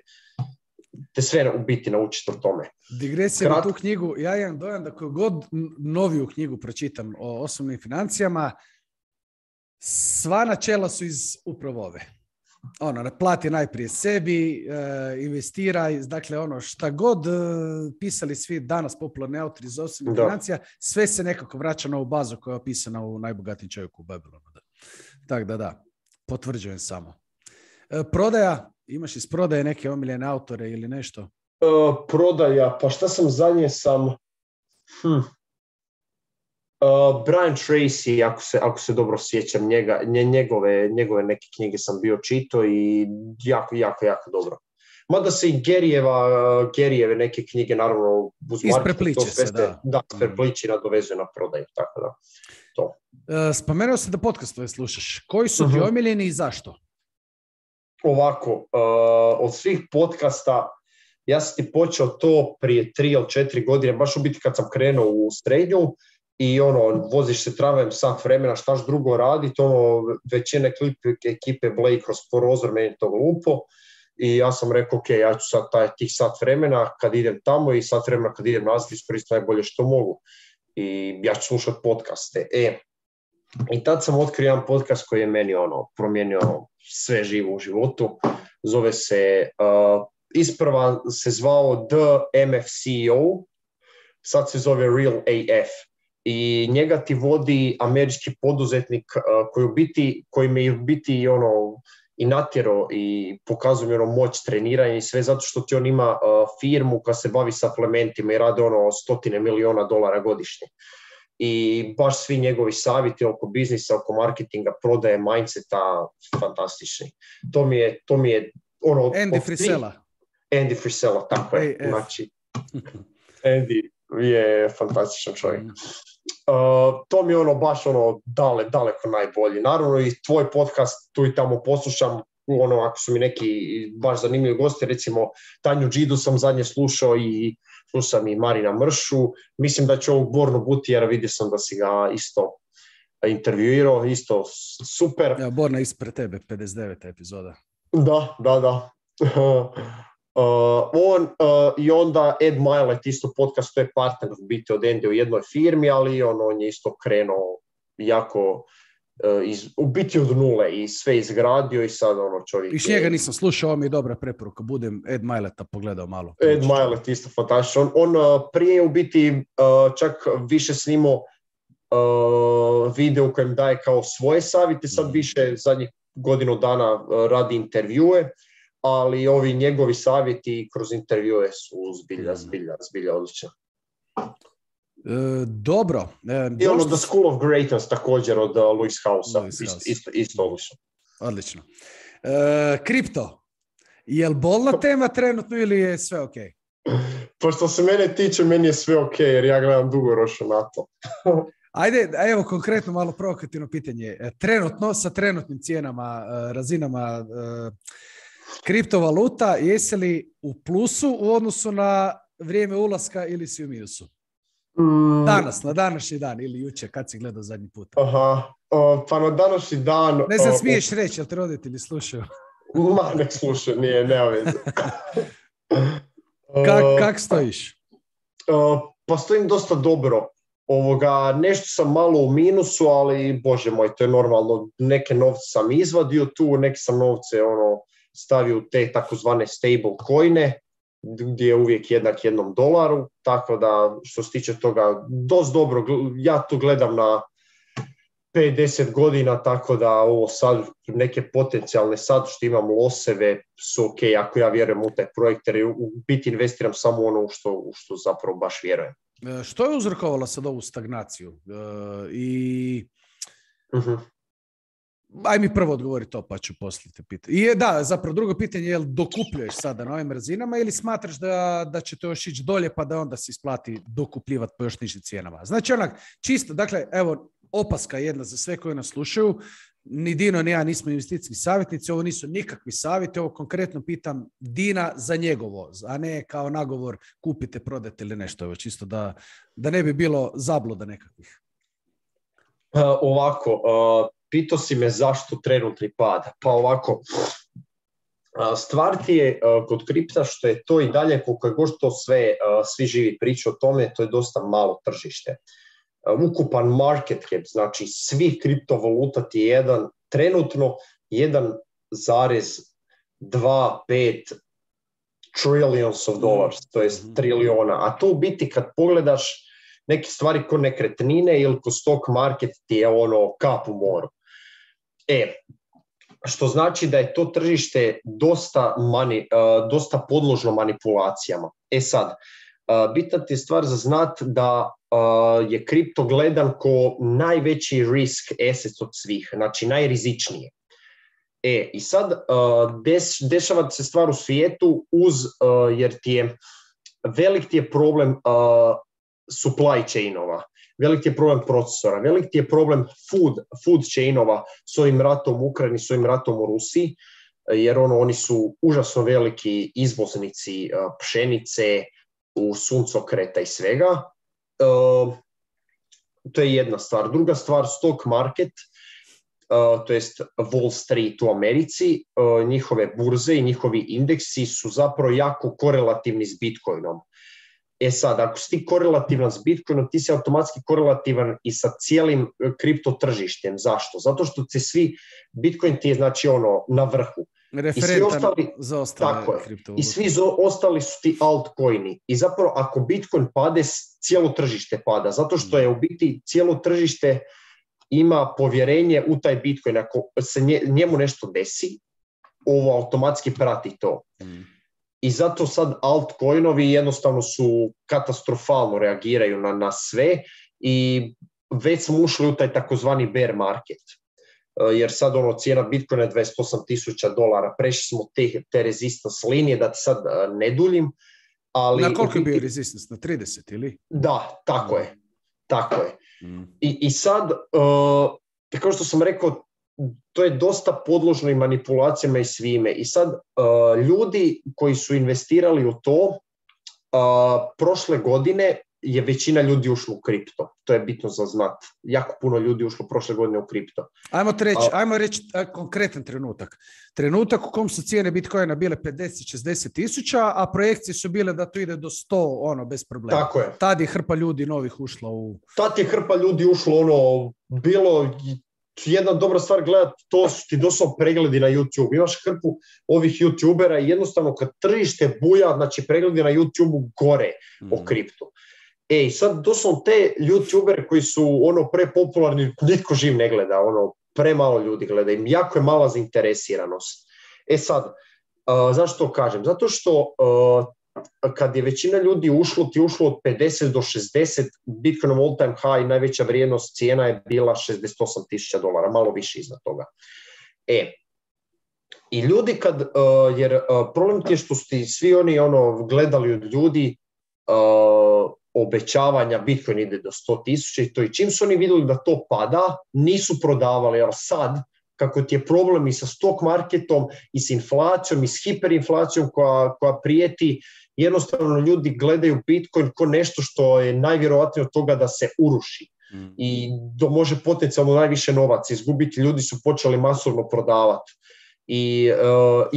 te sve u biti naučiti o tome. Digresija na tu knjigu, ja imam dojam da koju god noviju knjigu pročitam o osobnim financijama, sva načela su iz upravo ove. Plati najprije sebi, investiraj, dakle šta god pisali svi danas popularni autori iz osobnih financija, sve se nekako vraća na ovu bazu koja je opisana u Najbogatiji čovjek u Babilonu. Tako da, potvrđujem samo. Prodaja, imaš iz prodaje neke omiljene autore ili nešto? Prodaja, pa šta sam zadnje Brian Tracy, ako se dobro sjećam, njegove neke knjige sam bio čitao i jako dobro. Mada se i Garyjeve neke knjige, naravno, uz isprepliče se, da. Da, isprepliče i nadovezuje na prodaju, tako da. To. Spomenuo se da podcastove slušaš. Koji su ti omiljeni i zašto? Ovako, od svih podcasta, ja sam ti počeo to prije 3 ili 4 godine, baš u biti kad sam krenuo u srednju i voziš se tramvajem sat vremena, štaš drugo raditi, većine ekipe bleji kroz prozor, meni to glupo i ja sam rekao, ok, ja ću sad tih sat vremena kad idem tamo i sat vremena kad idem nazad iskoristiti najbolje što mogu i ja ću slušati podcaste. I tad sam otkrio jedan podcast koji je meni promijenio sve živo u životu. Zove se, isprva se zvao The MFCEO, sad se zove Real AF. I njega ti vodi američki poduzetnik koji me u biti i natjerao i pokazuje moć treniranja i sve zato što ti on ima firmu koja se bavi suplementima i rade $100 miliona godišnje. I baš svi njegovi savjeti oko biznisa, oko marketinga, prodaje, mindseta, fantastični. To mi je Andy Frisella. Andy Frisella, tako je. Znači, Andy je fantastičan čovjek. To mi je baš daleko najbolji. Naravno i tvoj podcast tu i tamo poslušam, ako su mi neki baš zanimljivi gosti, recimo Tanju Đidu sam zadnje slušao i slušam i Marina Mršu. Mislim da će ovog Bornu Butijera, vidio sam da si ga isto intervjuirao, isto super. Ja, Borna ispred tebe, 59. epizoda. Da. I onda Ed Mylett, isto podcast, to je partner biti od Andy u jednoj firmi, ali on je isto krenuo jako u biti od nule i sve izgradio i sad čovjek... Iš njega nisam slušao, ovo mi je dobra preporuka, budem Ed Myletta pogledao malo. Ed Mylett isto fantastičan. On prije u biti čak više snimao video u kojem daje kao svoje savjete, sad više zadnjih godinu dana radi intervjue, ali ovi njegovi savjeti kroz intervjue su zbilja odlični. Dobro. I The School of Greatness također od Louis Housea, isto odlično. Odlično. Kripto, je li bolna tema trenutno ili je sve ok? Pa što se mene tiče, meni je sve ok jer ja gledam dugoročno na to. Ajde, evo konkretno malo provokativno pitanje. Trenutno, sa trenutnim cijenama, razinama kriptovaluta, jesi li u plusu u odnosu na vrijeme ulaska ili si u minusu? Danas, na današnji dan ili jučer, kad si gledao zadnji put? Pa na današnji dan... Ne znam, smiješ reći, jel te roditelji slušaju? Nek slušaju, nema veze. Kak stojiš? Pa stojim dosta dobro. Nešto sam malo u minusu, ali bože moj, to je normalno. Neke novce sam izvadio tu, neke sam novce stavio u te takozvane stable coine, gdje je uvijek jednak $1, tako da što se tiče toga dosta dobro, ja tu gledam na 5-10 godina, tako da ovo sad neke potencijalne sad što imam loseve su ok, ako ja vjerujem u taj projekt, jer u biti investiram samo u što zapravo baš vjerujem. Što je uzrokovalo sad ovu stagnaciju? Aj mi prvo odgovori to, pa ću poslije te pitati. I da, zapravo drugo pitanje je, jel dokupljuješ sada na ovim razinama ili smatraš da će to još ići dolje pa da onda se isplati dokupljivati po još nižim cijenama? Znači onak, čisto, dakle, evo, opaska jedna za sve koji nas slušaju, ni Dino ni ja nismo investicijski savjetnici, ovo nisu nikakvi savjeti, ovo konkretno pitam Dina za njegov voz, a ne kao nagovor kupite, prodajte ili nešto, evo, čisto da ne bi bilo zabluda nekakvih. Ovako, pitao si me zašto trenutni pad. Pa ovako, stvar ti je kod kripta što je to i dalje, koliko je god to svi živi pričaju o tome, to je dosta malo tržište. Ukupan market cap, znači svih kriptovaluta ti je trenutno 1,25 trillions of dollars, to je trilijona. A to u biti kad pogledaš neke stvari ko nekretnine ili ko stock market ti je ono kap u moru. Što znači da je to tržište dosta podložno manipulacijama. Sad, bitna ti je stvar za znat da je kripto gledan ko najveći risk asset od svih, znači najrizičnije. I sad dešava se stvar u svijetu jer velik ti je problem supply chainova, velik je problem procesora, velik je problem food chainova s ovim ratom u Ukrajini, s ovim ratom u Rusiji, jer oni su užasno veliki izvoznici pšenice, suncokreta i svega. To je jedna stvar. Druga stvar, stock market, to jest Wall Street u Americi, njihove burze i njihovi indeksi su zapravo jako korelativni s Bitcoinom. Sad, ako si ti korelativan s Bitcoinom, ti si automatski korelativan i sa cijelim kripto tržištem. Zašto? Zato što Bitcoin ti je znači na vrhu. Referentan za ostale kriptovalute. I svi ostali su ti altcoini. I zapravo ako Bitcoin pade, cijelo tržište pada. Zato što je u biti cijelo tržište ima povjerenje u taj Bitcoin. Ako se njemu nešto desi, ovo automatski prati to. I zato sad altcoinovi jednostavno su katastrofalno reagiraju na sve i već smo ušli u taj takozvani bear market. Jer sad cijena Bitcoina je $28,000, prešli smo te resistance linije, da ti sad ne duljim. Ali na koliko je bio resistance? Na 30 ili? Da, tako je. I sad, kao što sam rekao, to je dosta podložno i manipulacijama i svime. I sad ljudi koji su investirali u to, prošle godine je većina ljudi ušlo u kripto. To je bitno za znat. Jako puno ljudi ušlo prošle godine u kripto. Ajmo reći konkretan trenutak. Trenutak u kom su cijene Bitcoina bile 50-60 tisuća, a projekcije su bile da to ide do 100, bez problema. Tako je. Tad je hrpa ljudi novih ušla u... Tad je hrpa ljudi ušlo, bilo... Jedna dobra stvar gledati, to su ti doslovno pregledi na YouTube. Imaš hrpu ovih YouTubera i jednostavno kad tržište buja, znači pregledi na YouTube gore o kriptu. Sad doslovno te YouTubere koji su prepopularni, nitko živ ne gleda, premalo ljudi gleda, im jako je mala zainteresiranost. Sad, zašto to kažem? Zato što kad je većina ljudi ušlo od 50 do 60, Bitcoinov all time high, najveća vrijednost cijena je bila $68,000, malo više iznad toga. I ljudi jer problem ti je što su ti svi oni gledali od ljudi obećavanja Bitcoin ide do 100,000 i to, i čim su oni vidjeli da to pada, nisu prodavali, ali sad kako ti je problem i sa stock marketom i s inflacijom i s hiperinflacijom koja prijeti, jednostavno ljudi gledaju Bitcoin kao nešto što je najvjerojatnije od toga da se uruši i da može potencijalno najviše novaca izgubiti. Ljudi su počeli masovno prodavati i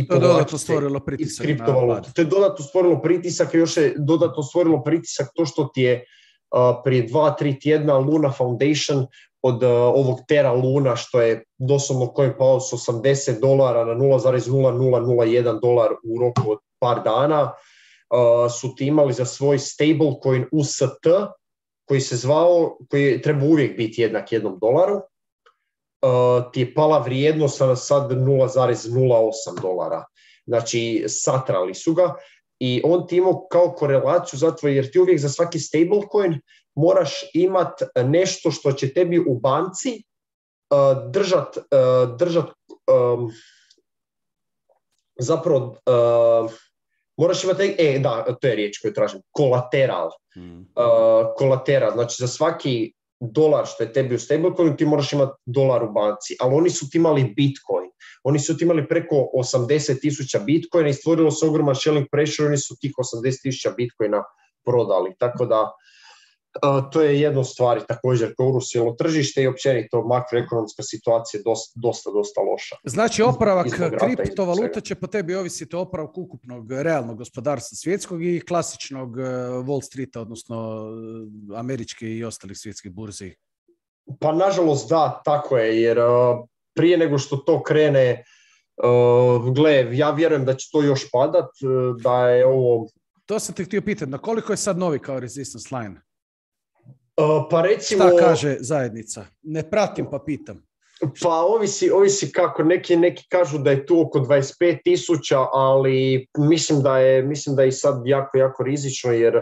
to je dodatno stvorilo pritisak na pad. To je dodatno stvorilo pritisak i još je dodatno stvorilo pritisak to što ti je prije 2-3 tjedna Luna Foundation od ovog Terra Luna, što je doslovno coin pao s $80 na $0,0001 u roku od par dana, su ti imali za svoj stablecoin UST, koji se zvao, koji treba uvijek biti jednak $1, ti je pala vrijednost sad $0,08. Znači, satrali su ga i on ti imao kao korelaciju zato jer ti uvijek za svaki stablecoin moraš imati nešto što će tebi u banci držat zapravo moraš imati, da, to je riječ koju tražim, kolateral. Kolateral, znači za svaki dolar što je tebi u stablecoinu ti moraš imati dolar u banci, ali oni su ti imali Bitcoin. Oni su ti imali preko 80,000 Bitcoina i stvorilo se ogroman shelling pressure, oni su tih 80,000 Bitcoina prodali. Tako da to je jedna stvar također koje urusilo tržište i općenito makroekonomska situacija je dosta loša. Znači oporavak kriptovaluta će po tebi ovisiti o oporavku ukupnog realnog gospodarstva svjetskog i klasičnog Wall Streeta, odnosno američke i ostalih svjetskih burzi. Pa nažalost da, tako je, jer prije nego što to krene, ja vjerujem da će to još padat, da je ovo... To sam te htio pitati, na koliko je sad novi kao resistance line? Pa recimo... Šta kaže zajednica? Ne pratim pa pitam. Pa ovisi kako. Neki kažu da je tu oko 25,000, ali mislim da je i sad jako rizično, jer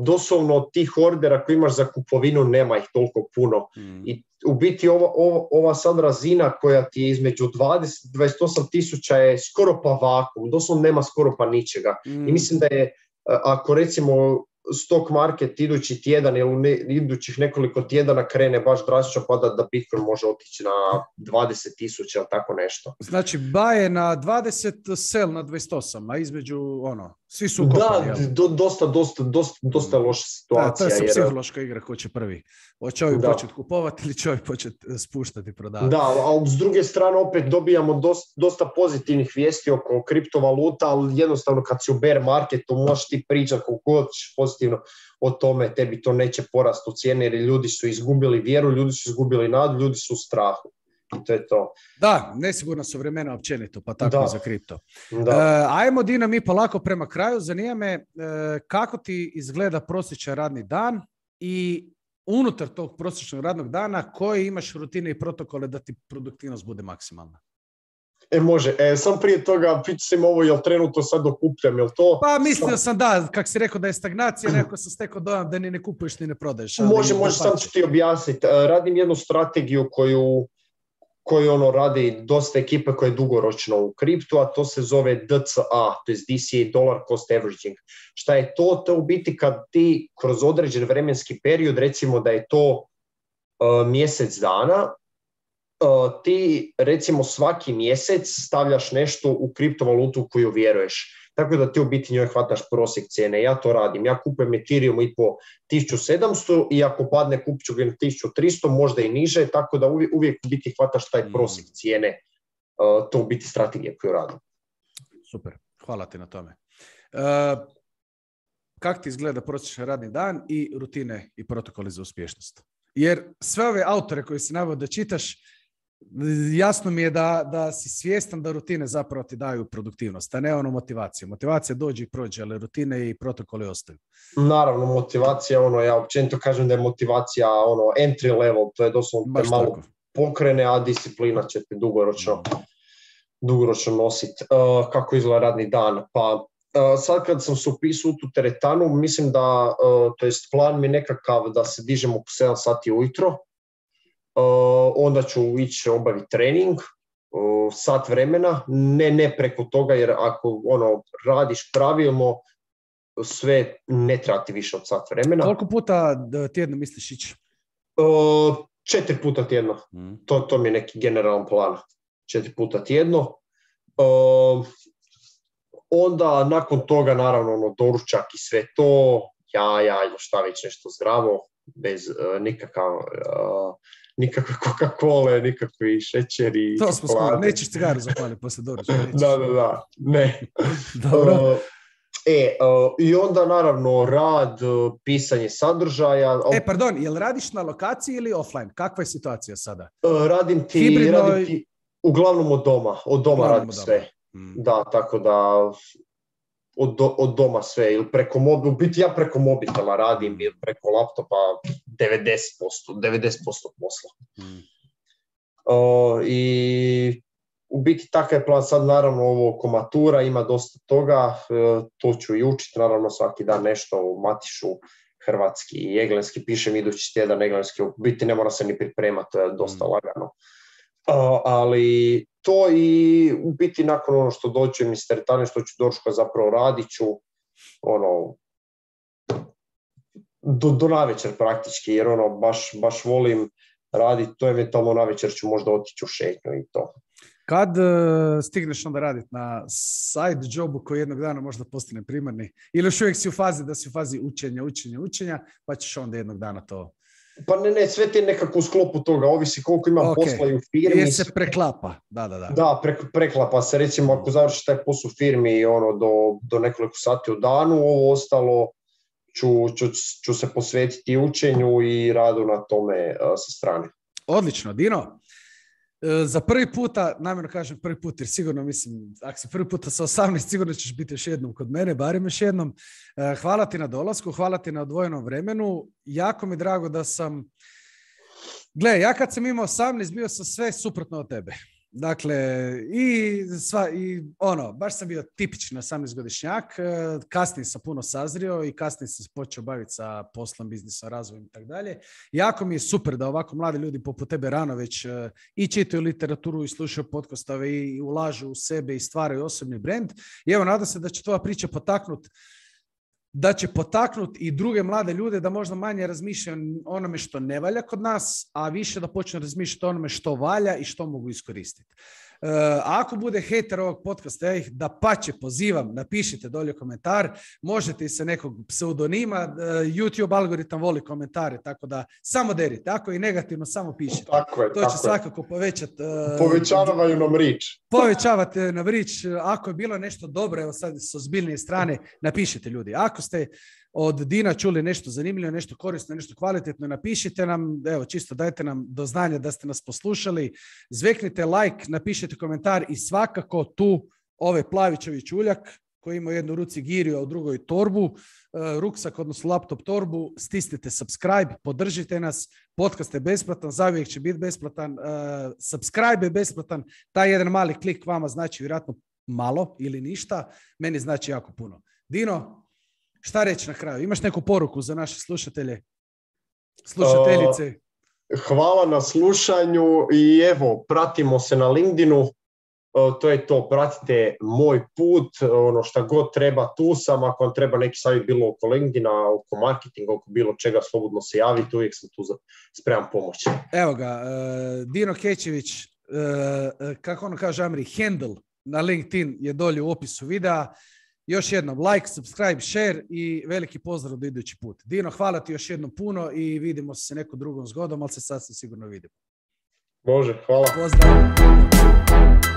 doslovno tih ordera koji imaš za kupovinu nema ih toliko puno. I u biti ova sad razina koja ti je između 20-28,000 je skoro pa vakuum, doslovno nema skoro pa ničega. I mislim da je, ako recimo stock market idući tjedan ili idućih nekoliko tjedana krene baš drastično pada, da Bitcoin može otići na 20,000 ili tako nešto. Znači buy je na 20, sell na 28, a između svi su ukopani. Da, dosta loša situacija. To je psihološka igra ko će prvi. Hoće ovi početi kupovati ili će ovi početi spuštati i prodavati. Da, ali s druge strane opet dobijamo dosta pozitivnih vijesti oko kriptovaluta, ali jednostavno kad si u bear marketu možeš ti pričati koliko hoćeš pozitivno o tome, tebi to neće porast u cijeni jer ljudi su izgubili vjeru, ljudi su izgubili nadu, ljudi su u strahu. I to je to. Da, nesigurna su vremena općenito, pa tako i za kripto. Ajmo, Dino, mi polako prema kraju. Zanima me kako ti izgleda prosječan radni dan i unutar tog prosječnog radnog dana koje imaš rutine i protokole da ti produktivnost bude maksimalna? Može. Sam prije toga pitam ovo, jel trenutno sad dokupljam, jel to? Pa mislio sam da, kak si rekao da je stagnacija, nekako sam stekao dojam da ni ne kupuješ ni ne prodaješ. Može, sam ću ti objasniti. Radim jednu strategiju koju radi dosta ekipe koja je dugoročno u kriptu, a to se zove DCA, to je DCA, Dollar Cost Averaging. Šta je to? To je u biti kad ti kroz određen vremenski period, recimo da je to mjesec dana, ti recimo svaki mjesec stavljaš nešto u kriptovalutu u koju vjeruješ. Tako da ti u biti njoj hvataš prosjek cijene. Ja to radim. Ja kupujem Ethereum i po 1700 i ako padne kupit ću ga na 1300, možda i niže, tako da uvijek u biti hvataš taj prosjek cijene. To u biti strategija koju radim. Super, hvala ti na tome. Kako ti izgleda prosječan radni dan i rutine i protokoli za uspješnost? Jer sve ove autore koje si naveo da čitaš, jasno mi je da si svjestan da rutine zapravo ti daju produktivnost, a ne motivaciju. Motivacija dođe i prođe, ali rutine i protokoli ostaju. Naravno, motivacija, ja općenito kažem da je motivacija entry level, to je doslovno te malo pokrene, a disciplina će te dugoročno nositi. Kako izgleda radni dan? Pa sad kad sam se upisao u tu teretanu, mislim da, to jest plan mi nekakav da se dižemo po 7 sati ujutro, onda ću ići obaviti trening, sat vremena, ne preko toga, jer ako radiš pravilno, sve ne treba ti više od sat vremena. Koliko puta tjedno misliš ići? 4 puta tjedno. To mi je neki generalan plan. 4 puta tjedno. Onda nakon toga naravno doručak i sve to, šta već nešto zdravo, bez nikakve Coca-Cola, nikakvi šećeri. To smo skoro, nećeš cigaru zapaliti poslije doručka. Da, ne. Dobro. I onda naravno rad, pisanje sadržaja. Pardon, jel radiš na lokaciji ili offline? Kakva je situacija sada? Radim ti uglavnom od doma radim sve. Da, tako da od doma sve, ili preko mobila, u biti ja preko mobitela radim ili preko laptopa 90% posla. I u biti takav je plan sad, naravno ovo oko matura, ima dosta toga, to ću i učiti, naravno svaki dan nešto u Matišu, hrvatski i engleski, pišem idući tjedan engleski, u biti ne mora se ni pripremati, dosta lagano. Ali to i u biti nakon ono što dođem iz teretane, što ću došla, zapravo radit ću do navečer praktički, jer baš volim raditi, to eventualno navečer ću možda otići u šetnju i to. Kad stigneš onda raditi na side jobu koji jednog dana možda postane primarni? Ili još uvijek si u fazi učenja, pa ćeš onda jednog dana to... Pa ne, sve ti je nekako u sklopu toga, ovisi koliko imam posla i u firmi. Jer se preklapa, da. Da, preklapa se, recimo ako završiš taj posao u firmi do nekoliko sati u danu, ovo ostalo ću se posvetiti učenju i radu na tome sa strane. Odlično, Dino. Za prvi puta, namjerno kažem prvi put, jer sigurno mislim, ako si prvi puta sa 18, sigurno ćeš biti još jednom kod mene, barem još jednom. Hvala ti na dolasku, hvala ti na odvojenom vremenu. Jako mi je drago da sam... Gle, ja kad sam imao 18, bio sam sve suprotno od tebe. Dakle, baš sam bio tipični 18-godišnjak, kasnije sam puno sazrio i kasnije sam se počeo baviti sa poslom, biznisom, razvojem i tako dalje. Jako mi je super da ovako mladi ljudi poput tebe rano već i čitaju literaturu i slušaju podcastove i ulažu u sebe i stvaraju osobni brand. I evo, nadam se da će tvoja priča potaknuti i druge mlade ljude da možda manje razmišljaju o onome što ne valja kod nas, a više da počnu razmišljati o onome što valja i što mogu iskoristiti. Ako bude hejter ovog podcasta, ja ih dapače pozivam, napišite dolje komentar, možete i sa nekog pseudonima, YouTube algoritam voli komentare, tako da samo derite, ako je negativno, samo pišite. To će svakako povećati... Povećavaju nam rič. Povećavate nam rič, ako je bilo nešto dobro, evo sad s ozbiljnije strane, napišite ljudi. Ako ste od Dina čuli nešto zanimljivo, nešto korisno, nešto kvalitetno, napišite nam, evo čisto dajte nam do znanja da ste nas poslušali, zveknite like, napišite komentar i svakako tu Plavićevi čuljak koji ima u jednoj ruci giriju, a u drugoj torbu, ruksak, odnosno laptop torbu, stisnite subscribe, podržite nas, podcast je besplatan, zauvijek će biti besplatan, subscribe je besplatan, taj jedan mali klik vama znači vjerojatno malo ili ništa, meni znači jako puno. Dino, šta reći na kraju? Imaš neku poruku za naše slušateljice? Hvala na slušanju i evo, pratimo se na LinkedInu. To je to, pratite moj put, šta god treba, tu sam, ako vam treba neki savjet bilo oko LinkedIna, oko marketinga, oko bilo čega, slobodno se javite, uvijek sam tu spreman pomoći. Evo ga, Dino Kečević, kako ono kaže Amri, handle na LinkedIn je dolje u opisu videa. Još jednom, like, subscribe, share i veliki pozdrav do idući put. Dino, hvala ti još jednom puno i vidimo se nekom drugom zgodom, ali se sasvim sigurno vidimo. Može, hvala. Pozdrav.